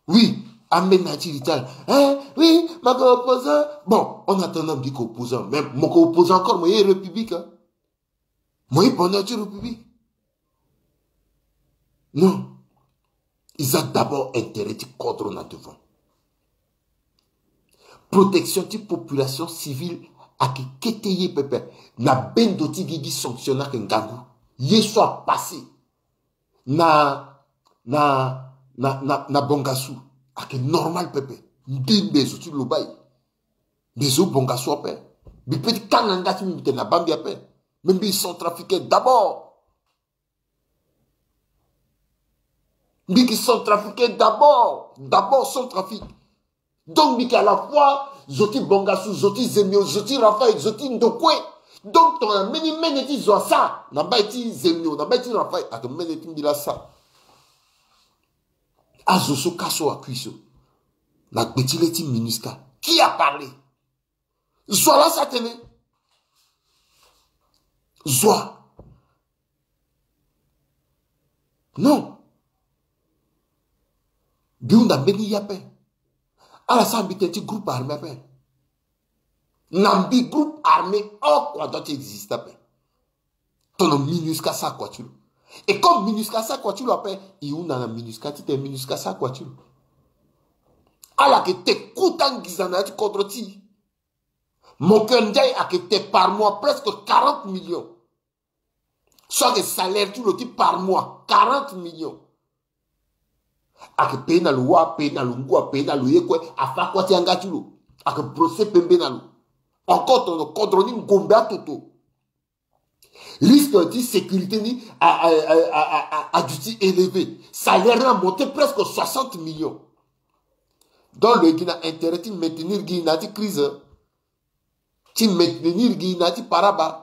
Oui, ambeni na ya ti retard. Hein, oui, mo yeke opposant. Bon, en attendant mbi yeke opposant. Mais mo yeke opposant encore, mo ye République, hein. Mo ye bonheur ti République. Non. E za d'abord intérêt ti kodro na devant. Protection ti population civile ayeke kete ye pepe. Na bendo ti gigi sanction ni ayeke ngangu. Ye so apassé na, na, na, na, na Bangassou ayeke normal pepe. Mbi, mbi zo ti Lobaye. Mbi zo Bangassou ape. Mbi peut ti kanga nga ti mbi, mbi tene na baa mbi ape. Mais mbi centrafricain d'abord. Mbi yeke centrafricain d'abord, d'abord Centrafrique. Donc mbi yeke à la fois zo ti Bangassou, zo ti Zemio, zo ti Raphaël, zo ti Ndokwe. Donc tongana mbeni mene ti zo asara na mbai ti Zemio, na mbai ti Raphaël, ayeke mene ti mbi laa asara. Azo so kâ so akui so na gbe ti le ti MINUSCA. Qui a parlé? Zo laa asara tënë. Zo. Non. Mbi hunda mbeni ye ape. Ala sara mbi tënë ti groupe armé ape. Na mbi groupe armé oko adoit ti existe ape. Tongana MINUSCA sara kua ti lo. Et comme MINUSCA sara kua ti lo ape, e hunda na MINUSCA titene MINUSCA sara kua ti lo. Ala yeke te kota nginza na ya ti kodro ti e. Mon Cœur Ndiaye ayeke te par mois presque quarante millions. So ayeke salaire ti lo ti par mois quarante millions. Ayeke paye na lo wâ, paye na lo ngu, apaye na lo ye kue, afa kua ti yanga ti lo. Ayeke procès pembe na lo. Encore tongana kodro ni ngombe atoto. Risque ti sécurité ni a, a, a, a, a, a duti élevé. Salaire ni amonté presque soixante millions. Donc lo yeke gi na intérêt ti maintenir gi na ya ti crise. Ti maintenir gi na ya ti paraba.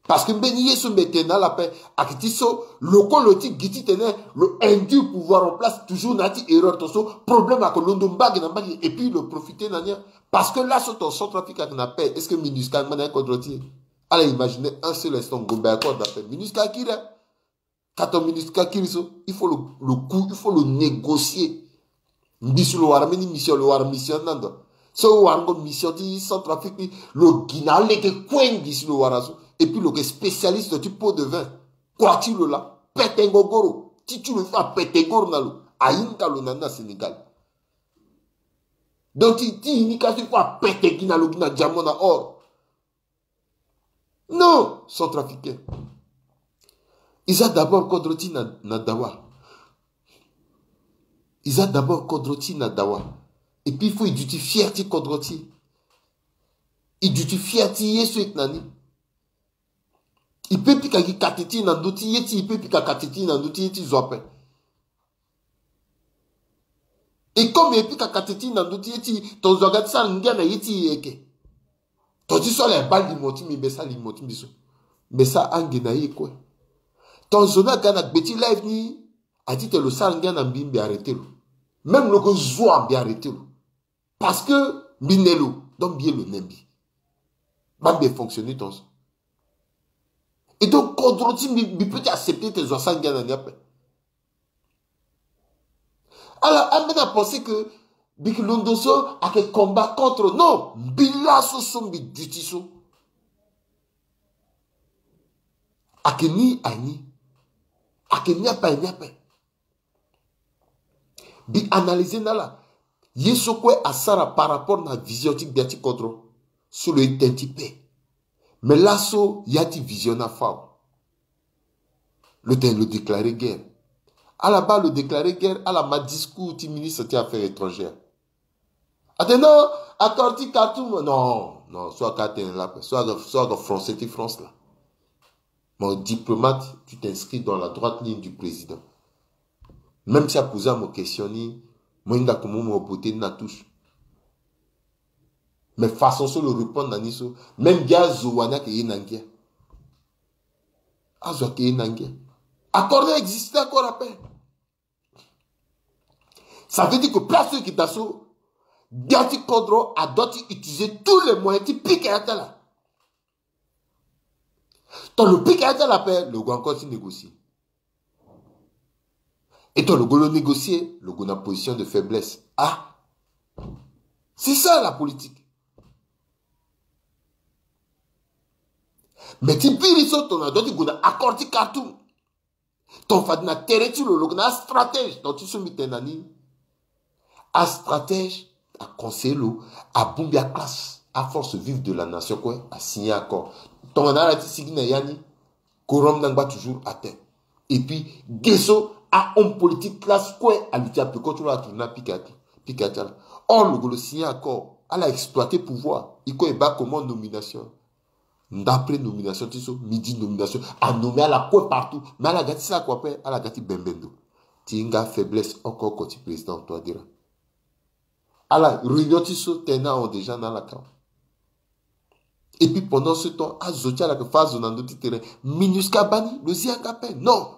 Parce que mbeni ye so mbi tene na ala ape, ayeke ti so lo kue lo ti gi titene lo induire pouvoir en place toujours na ya ti erreur, tongaso problème ayeke londo mbage na mbage, et puis lo profiter na ni. Parce que laso tongana Centrafrique ayeke na paix, est-ce que MINUSCA angba na kodro ti e? Ala imaginer un seul instant, ngombe ayeke na paix, MINUSCA akiri. Ka tongana MINUSCA kiri so, il faut lo, lo ku, il faut lo négocier. Ngi si lo wara mbeni mission, lo wara mission ni na ndo. So lo warango mission ti Centrafrique ni, lo gi na alege kue ngi si lo wara so. Et puis lo yeke spécialiste ti pot de vin. Kua ti lo laa, pete ngogoro. Ti ti lo il faut apete goro na lo. Ahinga lo na ni na Sénégal. Donc ti, ti ini ka so il faut apete gi na lo, gi na diamant na or. Non, Centrafricain. E za d'abord kodro ti e na, na dawa. E za d'abord kodro ti e na dawa. Et puis il faut e duti fier ti kodro ti e. E duti fier ti ye so e yeke na ni. E peut pika gi kate ti e na ndö ti ye ti e, e peut pika kate ti e na ndö ti ye ti zo ape. E comme e pika kate ti e na ndö ti ye ti e, tongaso aga ti sara ngia na ye ti e eke. Tongaso ti so ala baa limo ti mbi, mbi sara limo ti mbi so. Mbi sara ange na ye kue. Tongaso ni aga na gbe ti live ni, a titene lo sara ngia na mbi, mbi arrêter lo. Même lo yeke zo wa, mbi arrêter lo. Parce que mbi ne lo, donc mbi ye lo ne mbi. Baa mbi fonctionner tongaso. Et donc kodro ti mbi, mbi peut ti accepter titene zo asara ngia na ni ape. Alors ambeni apenser que mbi yeke londo so ayeke combat contre. Non, mbi laso so mbi duti so. Ayeke ni, ayeke ni. Ayeke ni ape, ayeke ni ape. Mbi analyser na ala. Ye so kue asara par rapport na vision ti gbia ti kodro. So lo ye tënë ti paix. Mais laso ya ti vision ni afâ awe. Lo tene lo déclarer guerre. Ala baa lo déclarer guerre, ala ma discours ti ministre ti affaires étrangères. Atene non, accord ti Khartoum. Non, non, so aka tene la, so aka, so aka français ti France la. Mon diplomate, tu t'inscris dans la droite ligne du président. Même si aposer mo question ni, mo hinga komo mo beauté ni na touche. Mais façon so lo répondre na ni so, même gi azo wani ayeke ye na ngia. Azo ayeke ye na ngia. Accord ni existe encore ape. Ça veut dire que place so e yeke daa so, gbia ti kodro adoit ti utiliser tous les moyens ti pika ya ti ala. Tant lo pika ya ti ala ape, lo gue encore ti négocier. Et tant lo gue lo négocier, lo gue na position de faiblesse. Ah, c'est ça la politique. Mais ti biri so tongana adoit ti gue na accord ti Khartoum, tongana fade na tere ti lo, lo gue na astratège. Donc ti so mbi tene na ni, astratège aconseiller lo, abongbi aclasse, aforce vive de la nation kue, asigner accord. Tongana ala ti sigi na ya ni, quorum ni angba toujours atteint. Et puis ge so ahomme politique classe kue aluti apeko ti lo atourner apika ya ti, pika ya ti ala. Or lo gue lo signer accord, ala exploiter pouvoir. E kue e baa comment nomination. D'après nomination ti so, midi nomination. Anommé ala kue partout. Mais ala ga ti sara kua ape, ala ga ti bembe ndo. Ti hinga faiblesse oko oko ti président Touadéra. Ala réunion ti so tene ahon déjà na ala ka. Et puis pendant ce temps, azo ti ala yeke fâ azo na ndö ti terrain. MINUSCA abaa ni, lo zi yanga ape. Non.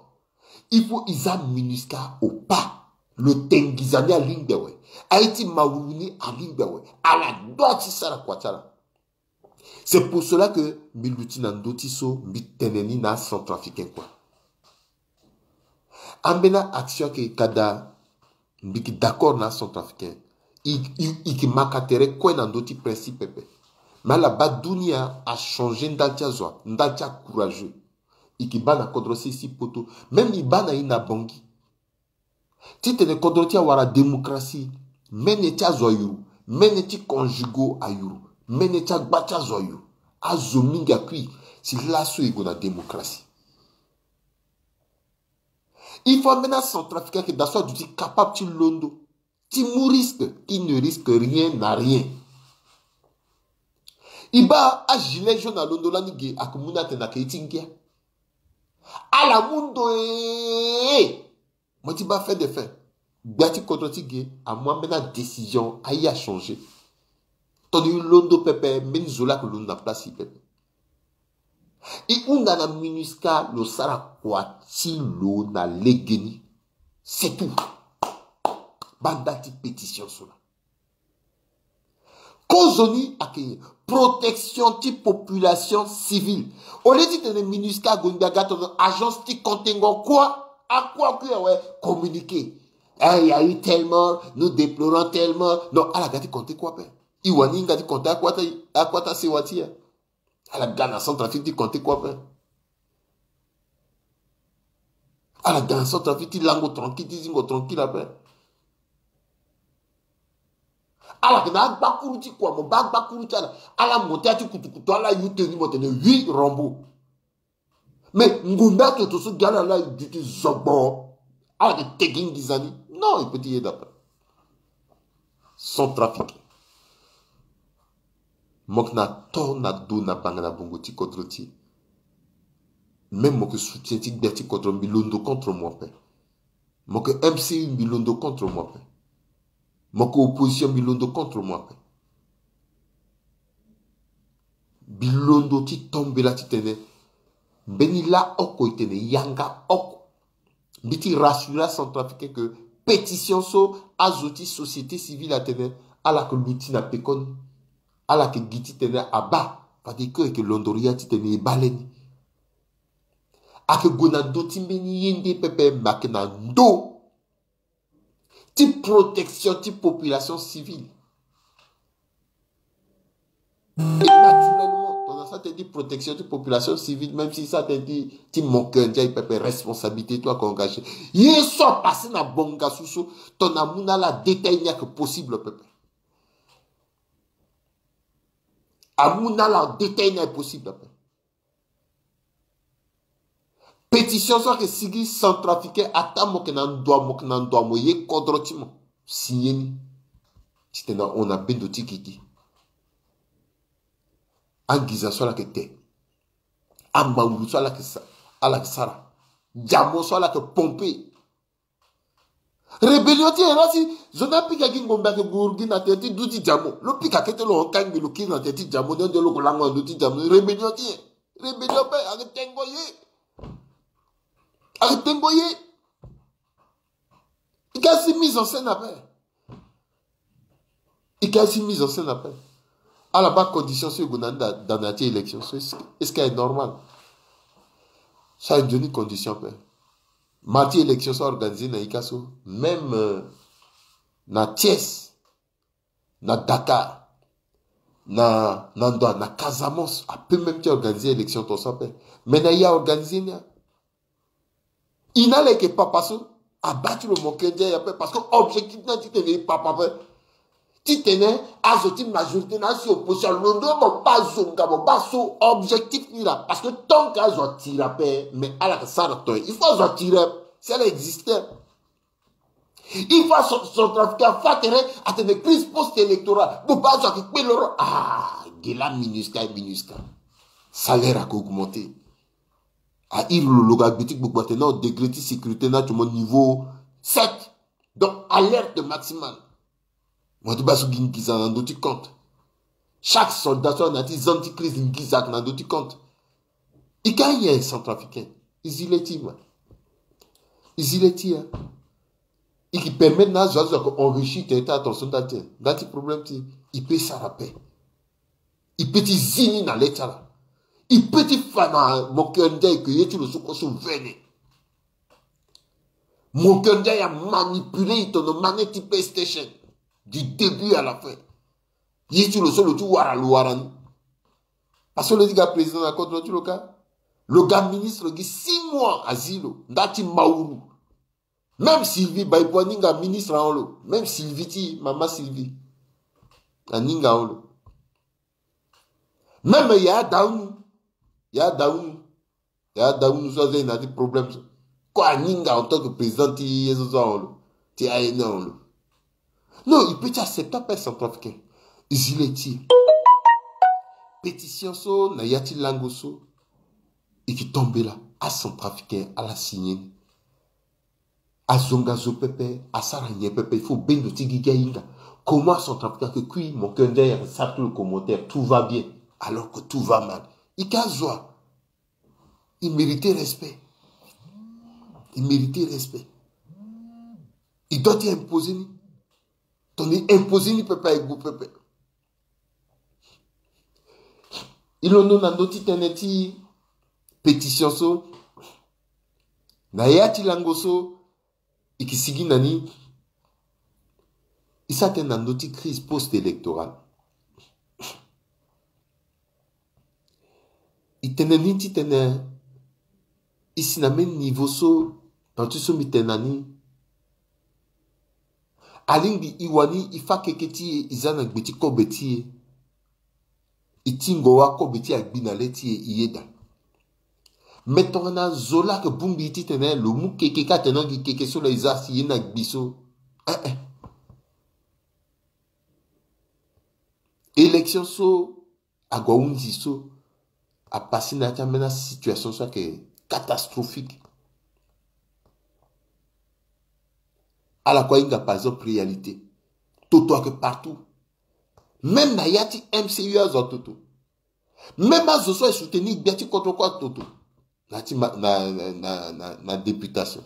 Il faut e za MINUSCA au pas. Lo te nginza ni alingbi awe. Aye ti mawuwu ni alingbi awe. Ala doit ti sara kua ti ala. C'est pour cela que mbi luti na ndö ti so mbi tene ni na acentrafricain kue. Ambeni action ayeke ka daa. Mbi yeke d'accord na acentrafricain. I, i, i yeke ma ka tere kue na ndö ti principe pepe. Mais ala baa dunia achanger ndali ti azo, ndali ti acourageux. I yeke baa na kodro sese ti poto. Même i baa na i na Bangui. Titene kodro ti e awara démocratie. Mene ti azo ayuru. Mene ti conjugaux ayuru. Mene ti agba ti azo ayuru. Azo mingi akui. Si laso e gue na démocratie. Il faut ambeni acentrafricain ayeke daa so aduti capable ti londo, ti mu risque. Qui ne risque rien n'a rien. I baa agilet jaune alondo lani ge, ayeke mu ni atene ayeke ye ti ngia. Ala mu ndo ee. Mo ti baa fin de fin. Gbia ti kodro ti ge amu ambeni adécision, aye achanger. Tongana i londo pepe, mbeni zo laa ayeke londo na place ti i pepe. I hunda na MINUSCA, lo sara kua ti lo na legeni. C'est tout. Baa ndali ti pétition so laa. Kozoni ayeke protection ti population civile. Au lieu titene MINUSCA ague ngbi aga tongana agence ti kontengo akua, akua akui awe communiqué. Eh, il y a eu telle mort, nous déplorons telle mort. Non, ala ga ti compter kue ape. I wani hinga ti compter akua ti, akua ti asewa ti e. Ala ga na Centrafrique ti compter kue ape. Ala ga na Centrafrique ti lango tranquille, ti zingo tranquille ape. Ala yeke na agbakuru ti kua, mo baa agbakuru ti ala. Ala monté ya ti kutukutu, ala yu teni mo tene oui, Rambo. Mais ngonda toto so gi ala la duti zogbo. Ala yeke tegi nginza ni. Non, e peut ti yeda ape. Centrafricain. Mo yeke na to na do na banga na bongo ti kodro ti e. Même mo yeke soutien ti gbia ti kodro, mbi londo contre mo ape. Mo yeke M C U, mbi londo contre mo ape. Mo yeke opposition, mbi londo contre mo ape. Mbi londo ti tombela titene mbeni la oko e tene yanga oko. Mbi ti rassurer acentrafricain que pétition so azo ti société civile atene, ala yeke luti na pekoni. Ala yeke gi titene abaa, fade kue e yeke londo ria titene e baa lani. Ayeke gue na ndö ti mbeni ye nde pepe, me ayeke na ndö ti protection ti population civile. Et naturellement, tongana sa tene ti protection ti population civile, même si sa tene ti, ti Moncœur Ndiaye pepe, responsabilité ti lo ayeke engagé. Ye so apassé na Bangassou so, tongana amu na ala détail ni ayeke possible pepe. Amu na ala détail ni ayeke possible pepe. Pétition so ayeke sigi centrafricain, ata mo yeke na ndo, mo yeke na ndo, mo ye kodro ti mo, signé ni. Titene ahon na bendo ti gigi. Anginza so ala yeke te. Amawulu so ala yeke sa-, ala yeke sara. Diamant so ala yeke pomper. Rébellion ti e la si zo ni apika gi ngombe ayeke gue gi na tere ti du ti diamant. Lo pika kete lo hon kangbi lo kiri na tere ti diamant, nde lo gue lango na ndö ti diamant. Rébellion ti e. Rébellion ape, ayeke tengo ye. Ayeke tengo ye. I ga si mise en scène ape. I ga si mise en scène ape. Ala baa condition so e gue na ni da, da na ya ti élection so, est-ce que, est-ce que aye normal? So aye nzoni condition ape. Ma ti élection so a organisé na ika so, même, euh, na Thiès, na Dakar, na, na ndo, na Casamance, ape même ti organisé élection ton so ape. Mais na ya organisé ni a. I na ala yeke papa so, abaa ti lo Moncœur Ndiaye ape, parce que objectif ni a titene e papa ape. Titene azo ti majorité na asi opposition alondo, mo baa zo nga, mo baa so, objectif ni laa. Parce que tant que azo atira ape, mais ala yeke sara tongana, il faut azo atira si ala existe. Il faut aso-, centrafricain afa tere atene crise post-électorale. Mo baa azo ayeke kpe loro. Ah, ge laa MINUSCA, MINUSCA. Salaire ayeke augmenté. A iri lo lo ga gbe ti gbogbo atene non, degré ti sécurité ni atio mo niveau sept. Donc, alerte maximale. Mo ti baa so gi nginza na ndö ti compte. Chaque soldat so na ya ti zone ti crise, nginza ayeke na ndö ti compte. I ka nyen centrafricain? I zi le ti ma. I zi le ti ya. I ki permettre na azo, azo ayeke enrichir tene ti attention ndali ti, ndali ti problème ti, i peut sara ape. I peut ti zi ni na le ti ala. I peut ti fa na Moncœur Ndiaye ke ye ti lo so kue so vene. Moncœur Ndiaye a manipuler e tono manette ti PlayStation du début à la fin. Ye ti lo so lo ti wara lo wara ni. Parce que lo ti ga président na kodro ti lo kâ. Lo ga ministre gi six mois azi lo nda ti mawuru. Même Sylvie Baïpo aninga ministre ahon lo. Même Sylvie ti mama Sylvie aninga ahon lo. Même Yaya Daouni, Yaya Daouni, Yaya Daouni so aza e na ti problème so, ko aninga en tant que président ti ye so so ahon lo, ti A N A ahon lo. Non, il peut ti accepter ape centrafricain. E zi le ti e. Pétition so na ya ti lango so e ke tombela. Acentrafricain ala signé ni. Azonga zo pepe, asara nyen pepe, il faut bendo ti gigi ahinga. Comment acentrafricain ake kui Moncœur Ndiaye ake sara tout le commentaire, tout va bien, alors que tout va mal? E ke azo a. E mérite respect. E mérite respect. E doit ti imposer ni. Tongana e imposer ni pepe aye gue pepe. E londo na ndö ti tënë ti pétition so. Na ya ti lango so e ke sigi na ni. E sara tënë na ndö ti crise post-électorale. E tene ni titene e si na même niveau so, tant ti so mbi tene na ni. Alingbi e wani e fâ keke ti e, e za na gbe ti kobe ti e. E tingo wâ kobe ti e agbi na le ti e, e yeda. Me tongana zo laa ayeke bongbi e titene lo mu keke kâ atene angi keke so laa e za si e ye na gbi so. Eh eh. Élection so ague ahunzi so, apasé na ya ti ambeni asituation so ayeke catastrophique. Ala kue ahinga par exemple réalité. Toto ayeke partout. Même na ya ti M C U azo atoto. Même azo so aye soutenir gbia ti kodro kue atoto. Na ti ma, na, na, na, na, na députation.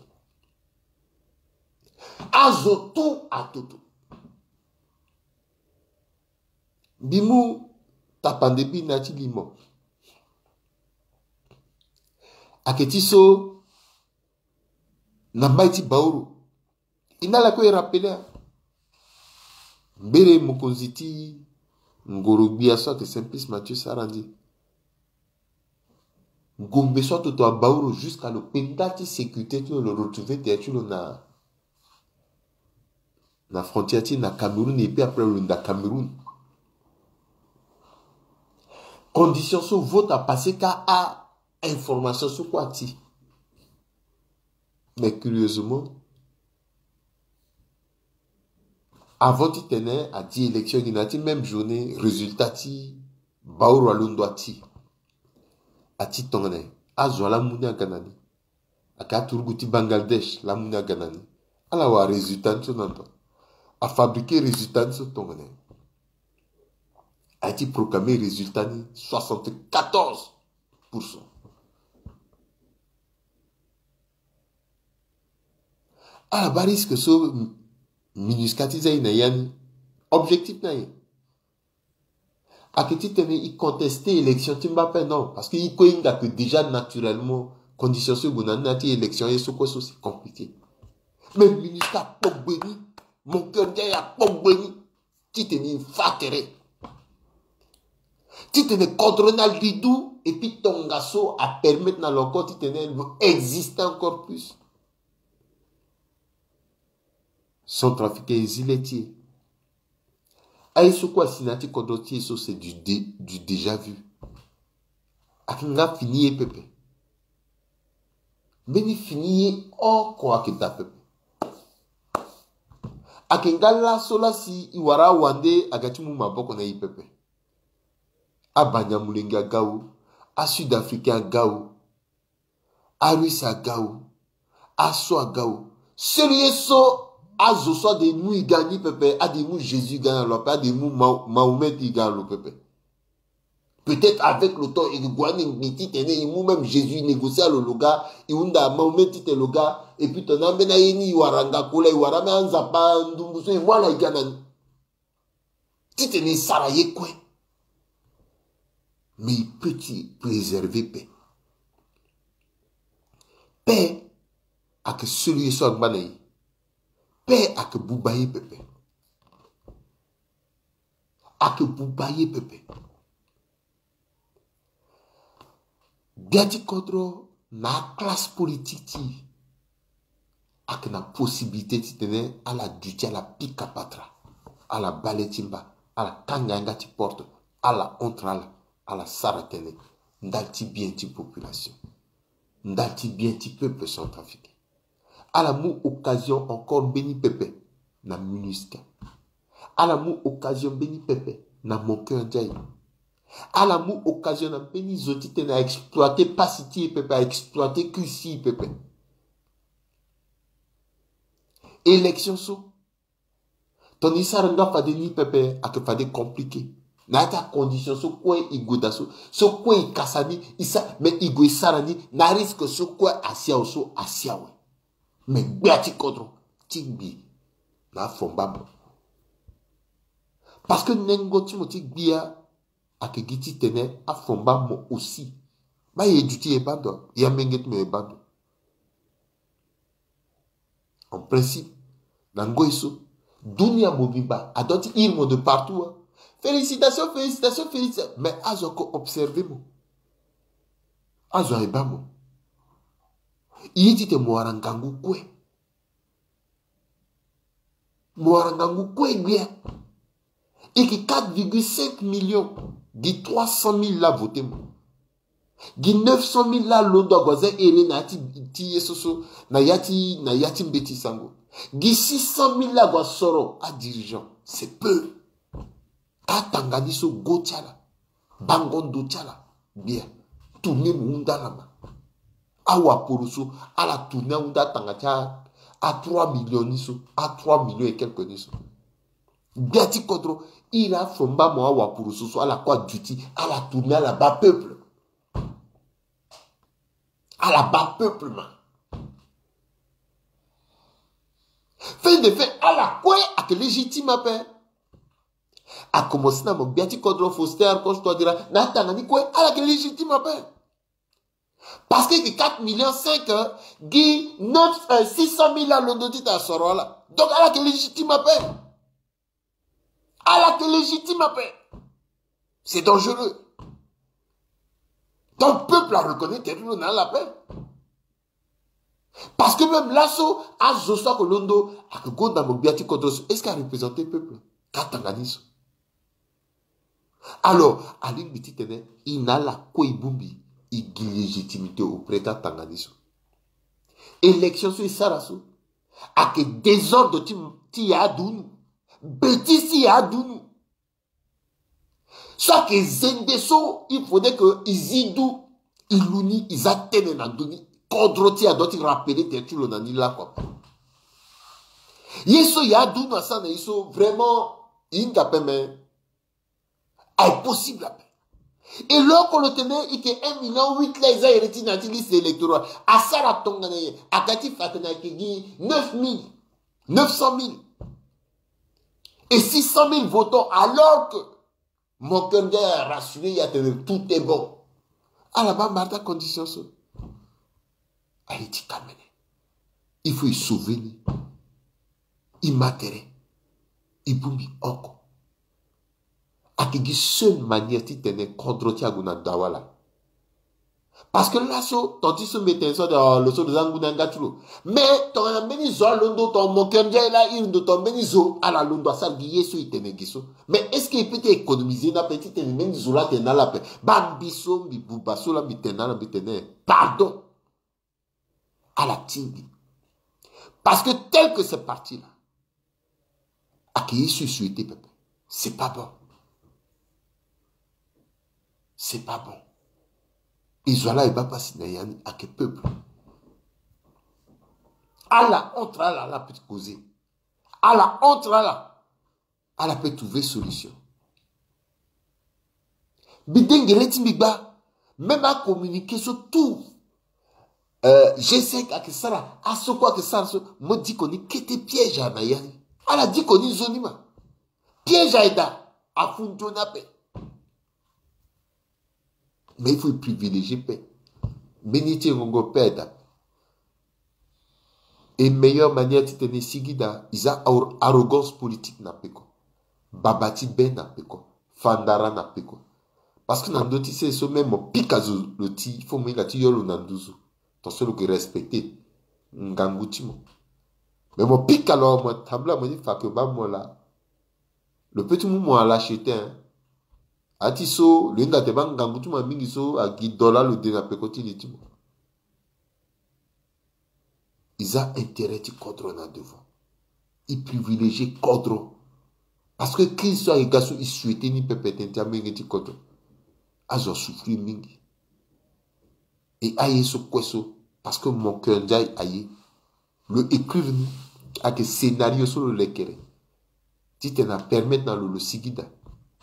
Azo tout atoto. Mbi mu tapande bi na ya ti limo. Ayeke ti so na mbai ti Baoro. E na ala kue e rappeler a. Mbere mokonzi ti ngoro-gbia so ayeke Simplice Mathieu Sarandji. Ngombe so atoto abaoro jusqu'à lo kpe nda ti sécurité ti lo, lo retrouver tere ti lo na, na frontière ti na Cameroun, et puis après lo nda Cameroun. Condition so vote apasé kâ a information so kue ati. Mais curieusement, avant titene adi élection gi na ya ti même journée, résultat ti Baoro alondo ati. Ati tongana nyen? Azo ala mu ni aga na ni. Ayeke aturugu ti Bangladesh laa amu ni aga na ni. Ala wara résultat ni so na ndo. Afabriquer résultat ni so tongana nyen? Aye ti proclamer résultat ni soixante-quatorze pour cent. Ala baa risque so MINUSCA ti za e na ya ni. Objectif na nyen? Ayeke titene e contester élection ti mba ape, non, parce que e kue e hinga que déjà naturellement condition so e gue na ni na ya ti élection ye so kue so c'est compliqué. Mais MINUSCA akpogbe ni, Moncœur Ndiaye akpogbe ni titene e fa tere, titene kodro ni alidu, et puis tongaso apermettre na lo encore titene lo exister encore plus. Centrafricain, e zi le ti e. Aye so kue asi na ya ti kodro ti e so, c'est du dé-, du déjà vu. Ayeke nga fini ye pepe. Mbeni fini ye oko ayeke daa pepe. Ayeke nga laso laa si e wara awande aga ti mu maboko na e pepe. Abanyamulenge aga o, asud-africain aga o, Arusse aga o, aso aga o. Seul ye so azo so ade mu e ga ni pepe, ade mu Jésus e ga na lo ape, ade mu Ma-, Mahomet e ga na lo pepe. Peut-être avec le temps e ke gue aningbi titene e mu même Jésus e négocier na lo lo ga, e hunda Mahomet titene lo ga, et puis tongana ambeni aye ni e wara nga kue laa, e wara même anzapa ndumbu so e mu ala e ga na ni. Titene e sara ye kue. Mais e peut ti préserver paix. Paix Ayeke selu ye so angba na e. Pe ayeke buba ye pepe. Ayeke buba ye pepe. Gbia ti kodro na aclasse politique ti e ayeke na possibilité titene ala duti, ala pika patra, ala bale ti mba, ala kanga yanga ti porte, ala entre ala, ala sara tënë ndali ti bien ti population, ndali ti bien ti peuple centrafricain. Ala mu occasion encore mbeni pepe na MINUSCA. Ala mu occasion mbeni pepe na Moncœur Ndiaye. Ala mu occasion na mbeni zo titene a exploiter pasi ti e pepe, a exploiter crise ti e pepe. Élection so, tongana e sara nga fade ni pepe, ayeke fade compliqué. Na ya ti acondition so kue e gue daa so, so kue e kasa ni, e sa, mais e gue e sara ni na risque so kue asi awe so, asi awe. Mais gbia ti kodro ti gbi na afomba mo. Parce que nengo ti mo ti gbia ayeke gi titene afomba mo aussi. Baa e duti e baa ndo, e amenge ti mo e baa ndo. En principe, na ngoi so, dunia mobimba adua ti iri mo de partout, hein. Félicitation, félicitation, félicitation. Mais azo ako observer mo. Azo aye baa mo. E ye titene mo wara ngangu kue. Mo wara ngangu kue gbia. E yeke quatre virgule cinq millions. Gi trois cent mille laa voter mo. Gi neuf cent mille laa alondo ague aza ere na ya ti, ti ye so so, na ya ti, na ya ti mbeti sango. Gi six cent mille laa ague asoro adirigeant. C'est peu. Atanga ni so go ti ala, bango ndo ti ala, gbia, tourner mo hunda ala ma. Awaporoso, ala tourner ahunda atanga ti a, a trois millions ni so, a trois millions et quelques ni so. Gbia ti kodro, iri afomba mo awaporoso so, ala kue aduti, ala tourner ala baa peuple. Ala baa peuple ma. Fin de fin, ala kue ayeke légitime ape. A commencé na mo gbia ti kodro Faustin Archange Touadéra, na atanga ni kue, ala yeke légitime ape. Parce que gi quatre millions cinq, euh, gi neuf, euh, six cent mille alondo ti tene asoro ala. Donc ala yeke légitime ape. Ala yeke légitime ape. C'est dangereux. Donc peuple a reconnaître tene ti lo na ala ape. Parce que même laso, azo so ayeke londo, ayeke gonda mo gbia ti kodro so, est-ce que a représenter peuple? Ka tanga ni so. Alors, alingbi titene e na ala kue e bongbi, e gi légitimité auprès ti atanga ni so. Élection so e sara so ayeke désordre ti, ti ya adunu. Bêtise ti ya adunu. So ayeke zende so, il faudrait que e zi du, e lu ni, e za tene na ndö ni. Kodro ti e adua ti rappeler tene ti lo na ni lakue. Ye so ya adunu asara na e so, vraiment, e hinga ape me. Aye possible ape. E lo oko lo tene e yeke un million huit laa e za ere ti na ya ti liste électorale. Asara tongana nyen? Aga ti fa atene ayeke gi neuf mille, neuf cent mille et six cent mille votants, alors que Moncœur Ndiaye a rassuré e atene tout est bon. Ala baa mara ti acondition so. Aye ti kamene. Il faut e sauver ni. E ma tere. E bongbi oko. Ayeke gi seule manière titene kodro ti e ague na dawa laa. Parce que laso, ton ti so mbi tene so ade, oh, lo so lo za ngu na yanga ti lo. Mais tongana mbeni zo alondo, tongana Moncœur Ndiaye laa iri ndo, tongana mbeni zo ala londo asara gi ye so e tene gi so. Mais est-ce que e peut ti économiser ni ape titene mbeni zo laa atene na ala ape? Baa mbi so mbi buba so laa mbi tene na ala, mbi tene pardon. Ala tingbi. Parce que tel que c'est parti là, ayeke ye so e souhaité pepe. C'est pas bon. C'est pas bon. E zo ala e baa pasi na ya ni, ayeke peuple. Ala entre ala, ala peut causer. Ala entre ala. Ala peut trouver solution. Mbi dengue le ti mbi gbaa. Même acommuniqué so tout, euh, G cinq ayeke sara, aso kue ayeke sara so, mo diko ni kete piège na ya ni. Ala diko ni nzoni ma. Piège aye daa, afu nzoni ape. Mais il faut privilégier paix. Mbeni ti e ngongo paix aye daa. Et meilleure manière titene e sigi daa, e za arrogance politique na peko, baba ti be na peko, fandara na peko. Parce que na ndö ti sese so même mo pika zo lo ti, il faut mo hinga ti yo lo na nduzu. Tant so lo ke respecter ngangu ti mo. Mais mo pika lo, mo tambula mo ni fa ke ba mo laa. Lo pe ti mu mo ala chete, hein. A ti so lo hinga te ba ngangu ti mo mingi so a gi dola lo de na peko ti li ti mo. E za intérêt ti kodro na devant. E privilégier kodro. Parce que crise so ayeke ga so, e souhaiter ni pepe tënë ti amolenge ti kodro. Azo asouffrir mingi. Et aye so kue so, parce que mon cœur Ndiaye aye. Lo écrire ni ayeke scénario so lo lekere, titene apermettre na lo lo sigi daa.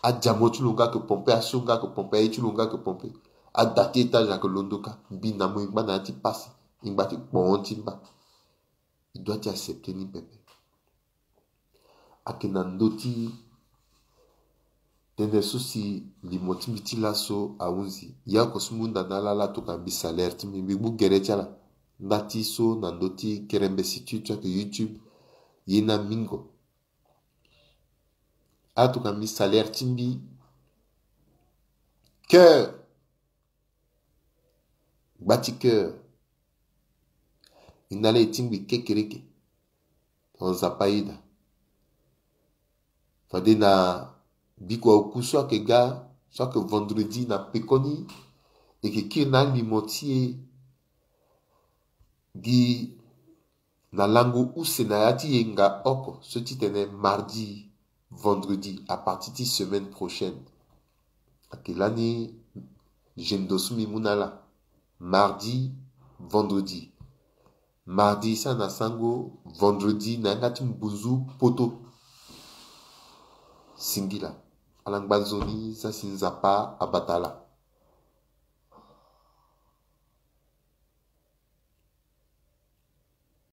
Adiamo ti lo nga ayeke pompe, asio nga ayeke pompe, aye ti lo nga ayeke pompe. Ada ti étage ayeke londo kâ. Mbi na mo e ngba na ya ti pasi, e ngba ti kpon ti mba. E doit ti accepter ni pepe. Ayeke na ndö ti tënë so si limo ti mbi ti laso ahunzi. Ya oko so mbi hunda na ala, ala tokua mbi salaire ti mbi, mbi gbu gere ti ala. Nda ti so na ndö ti kerembe site ti so ayeke YouTube, ye na mingo. Ala tokua mbi salaire ti mbi. Cœur. Gba ti cœur. E na laa e tingbi kekereke. Tongana Nzapa ayeda. Fade na bikua oku so ayeke ga, so ayeke vendredi na pekoni, e yeke kiri na alimo ti e gi na lango use na ya ti yenga oko, so titene mardi, vendredi, à partir ti semaine prochaine. Ayeke lani zendo so mbi mu na ala. Mardi, vendredi. Mardi sara na sango, vendredi na yanga ti mbunzu poto. Singila. Ala ngba nzoni, sara si Nzapa abata ala.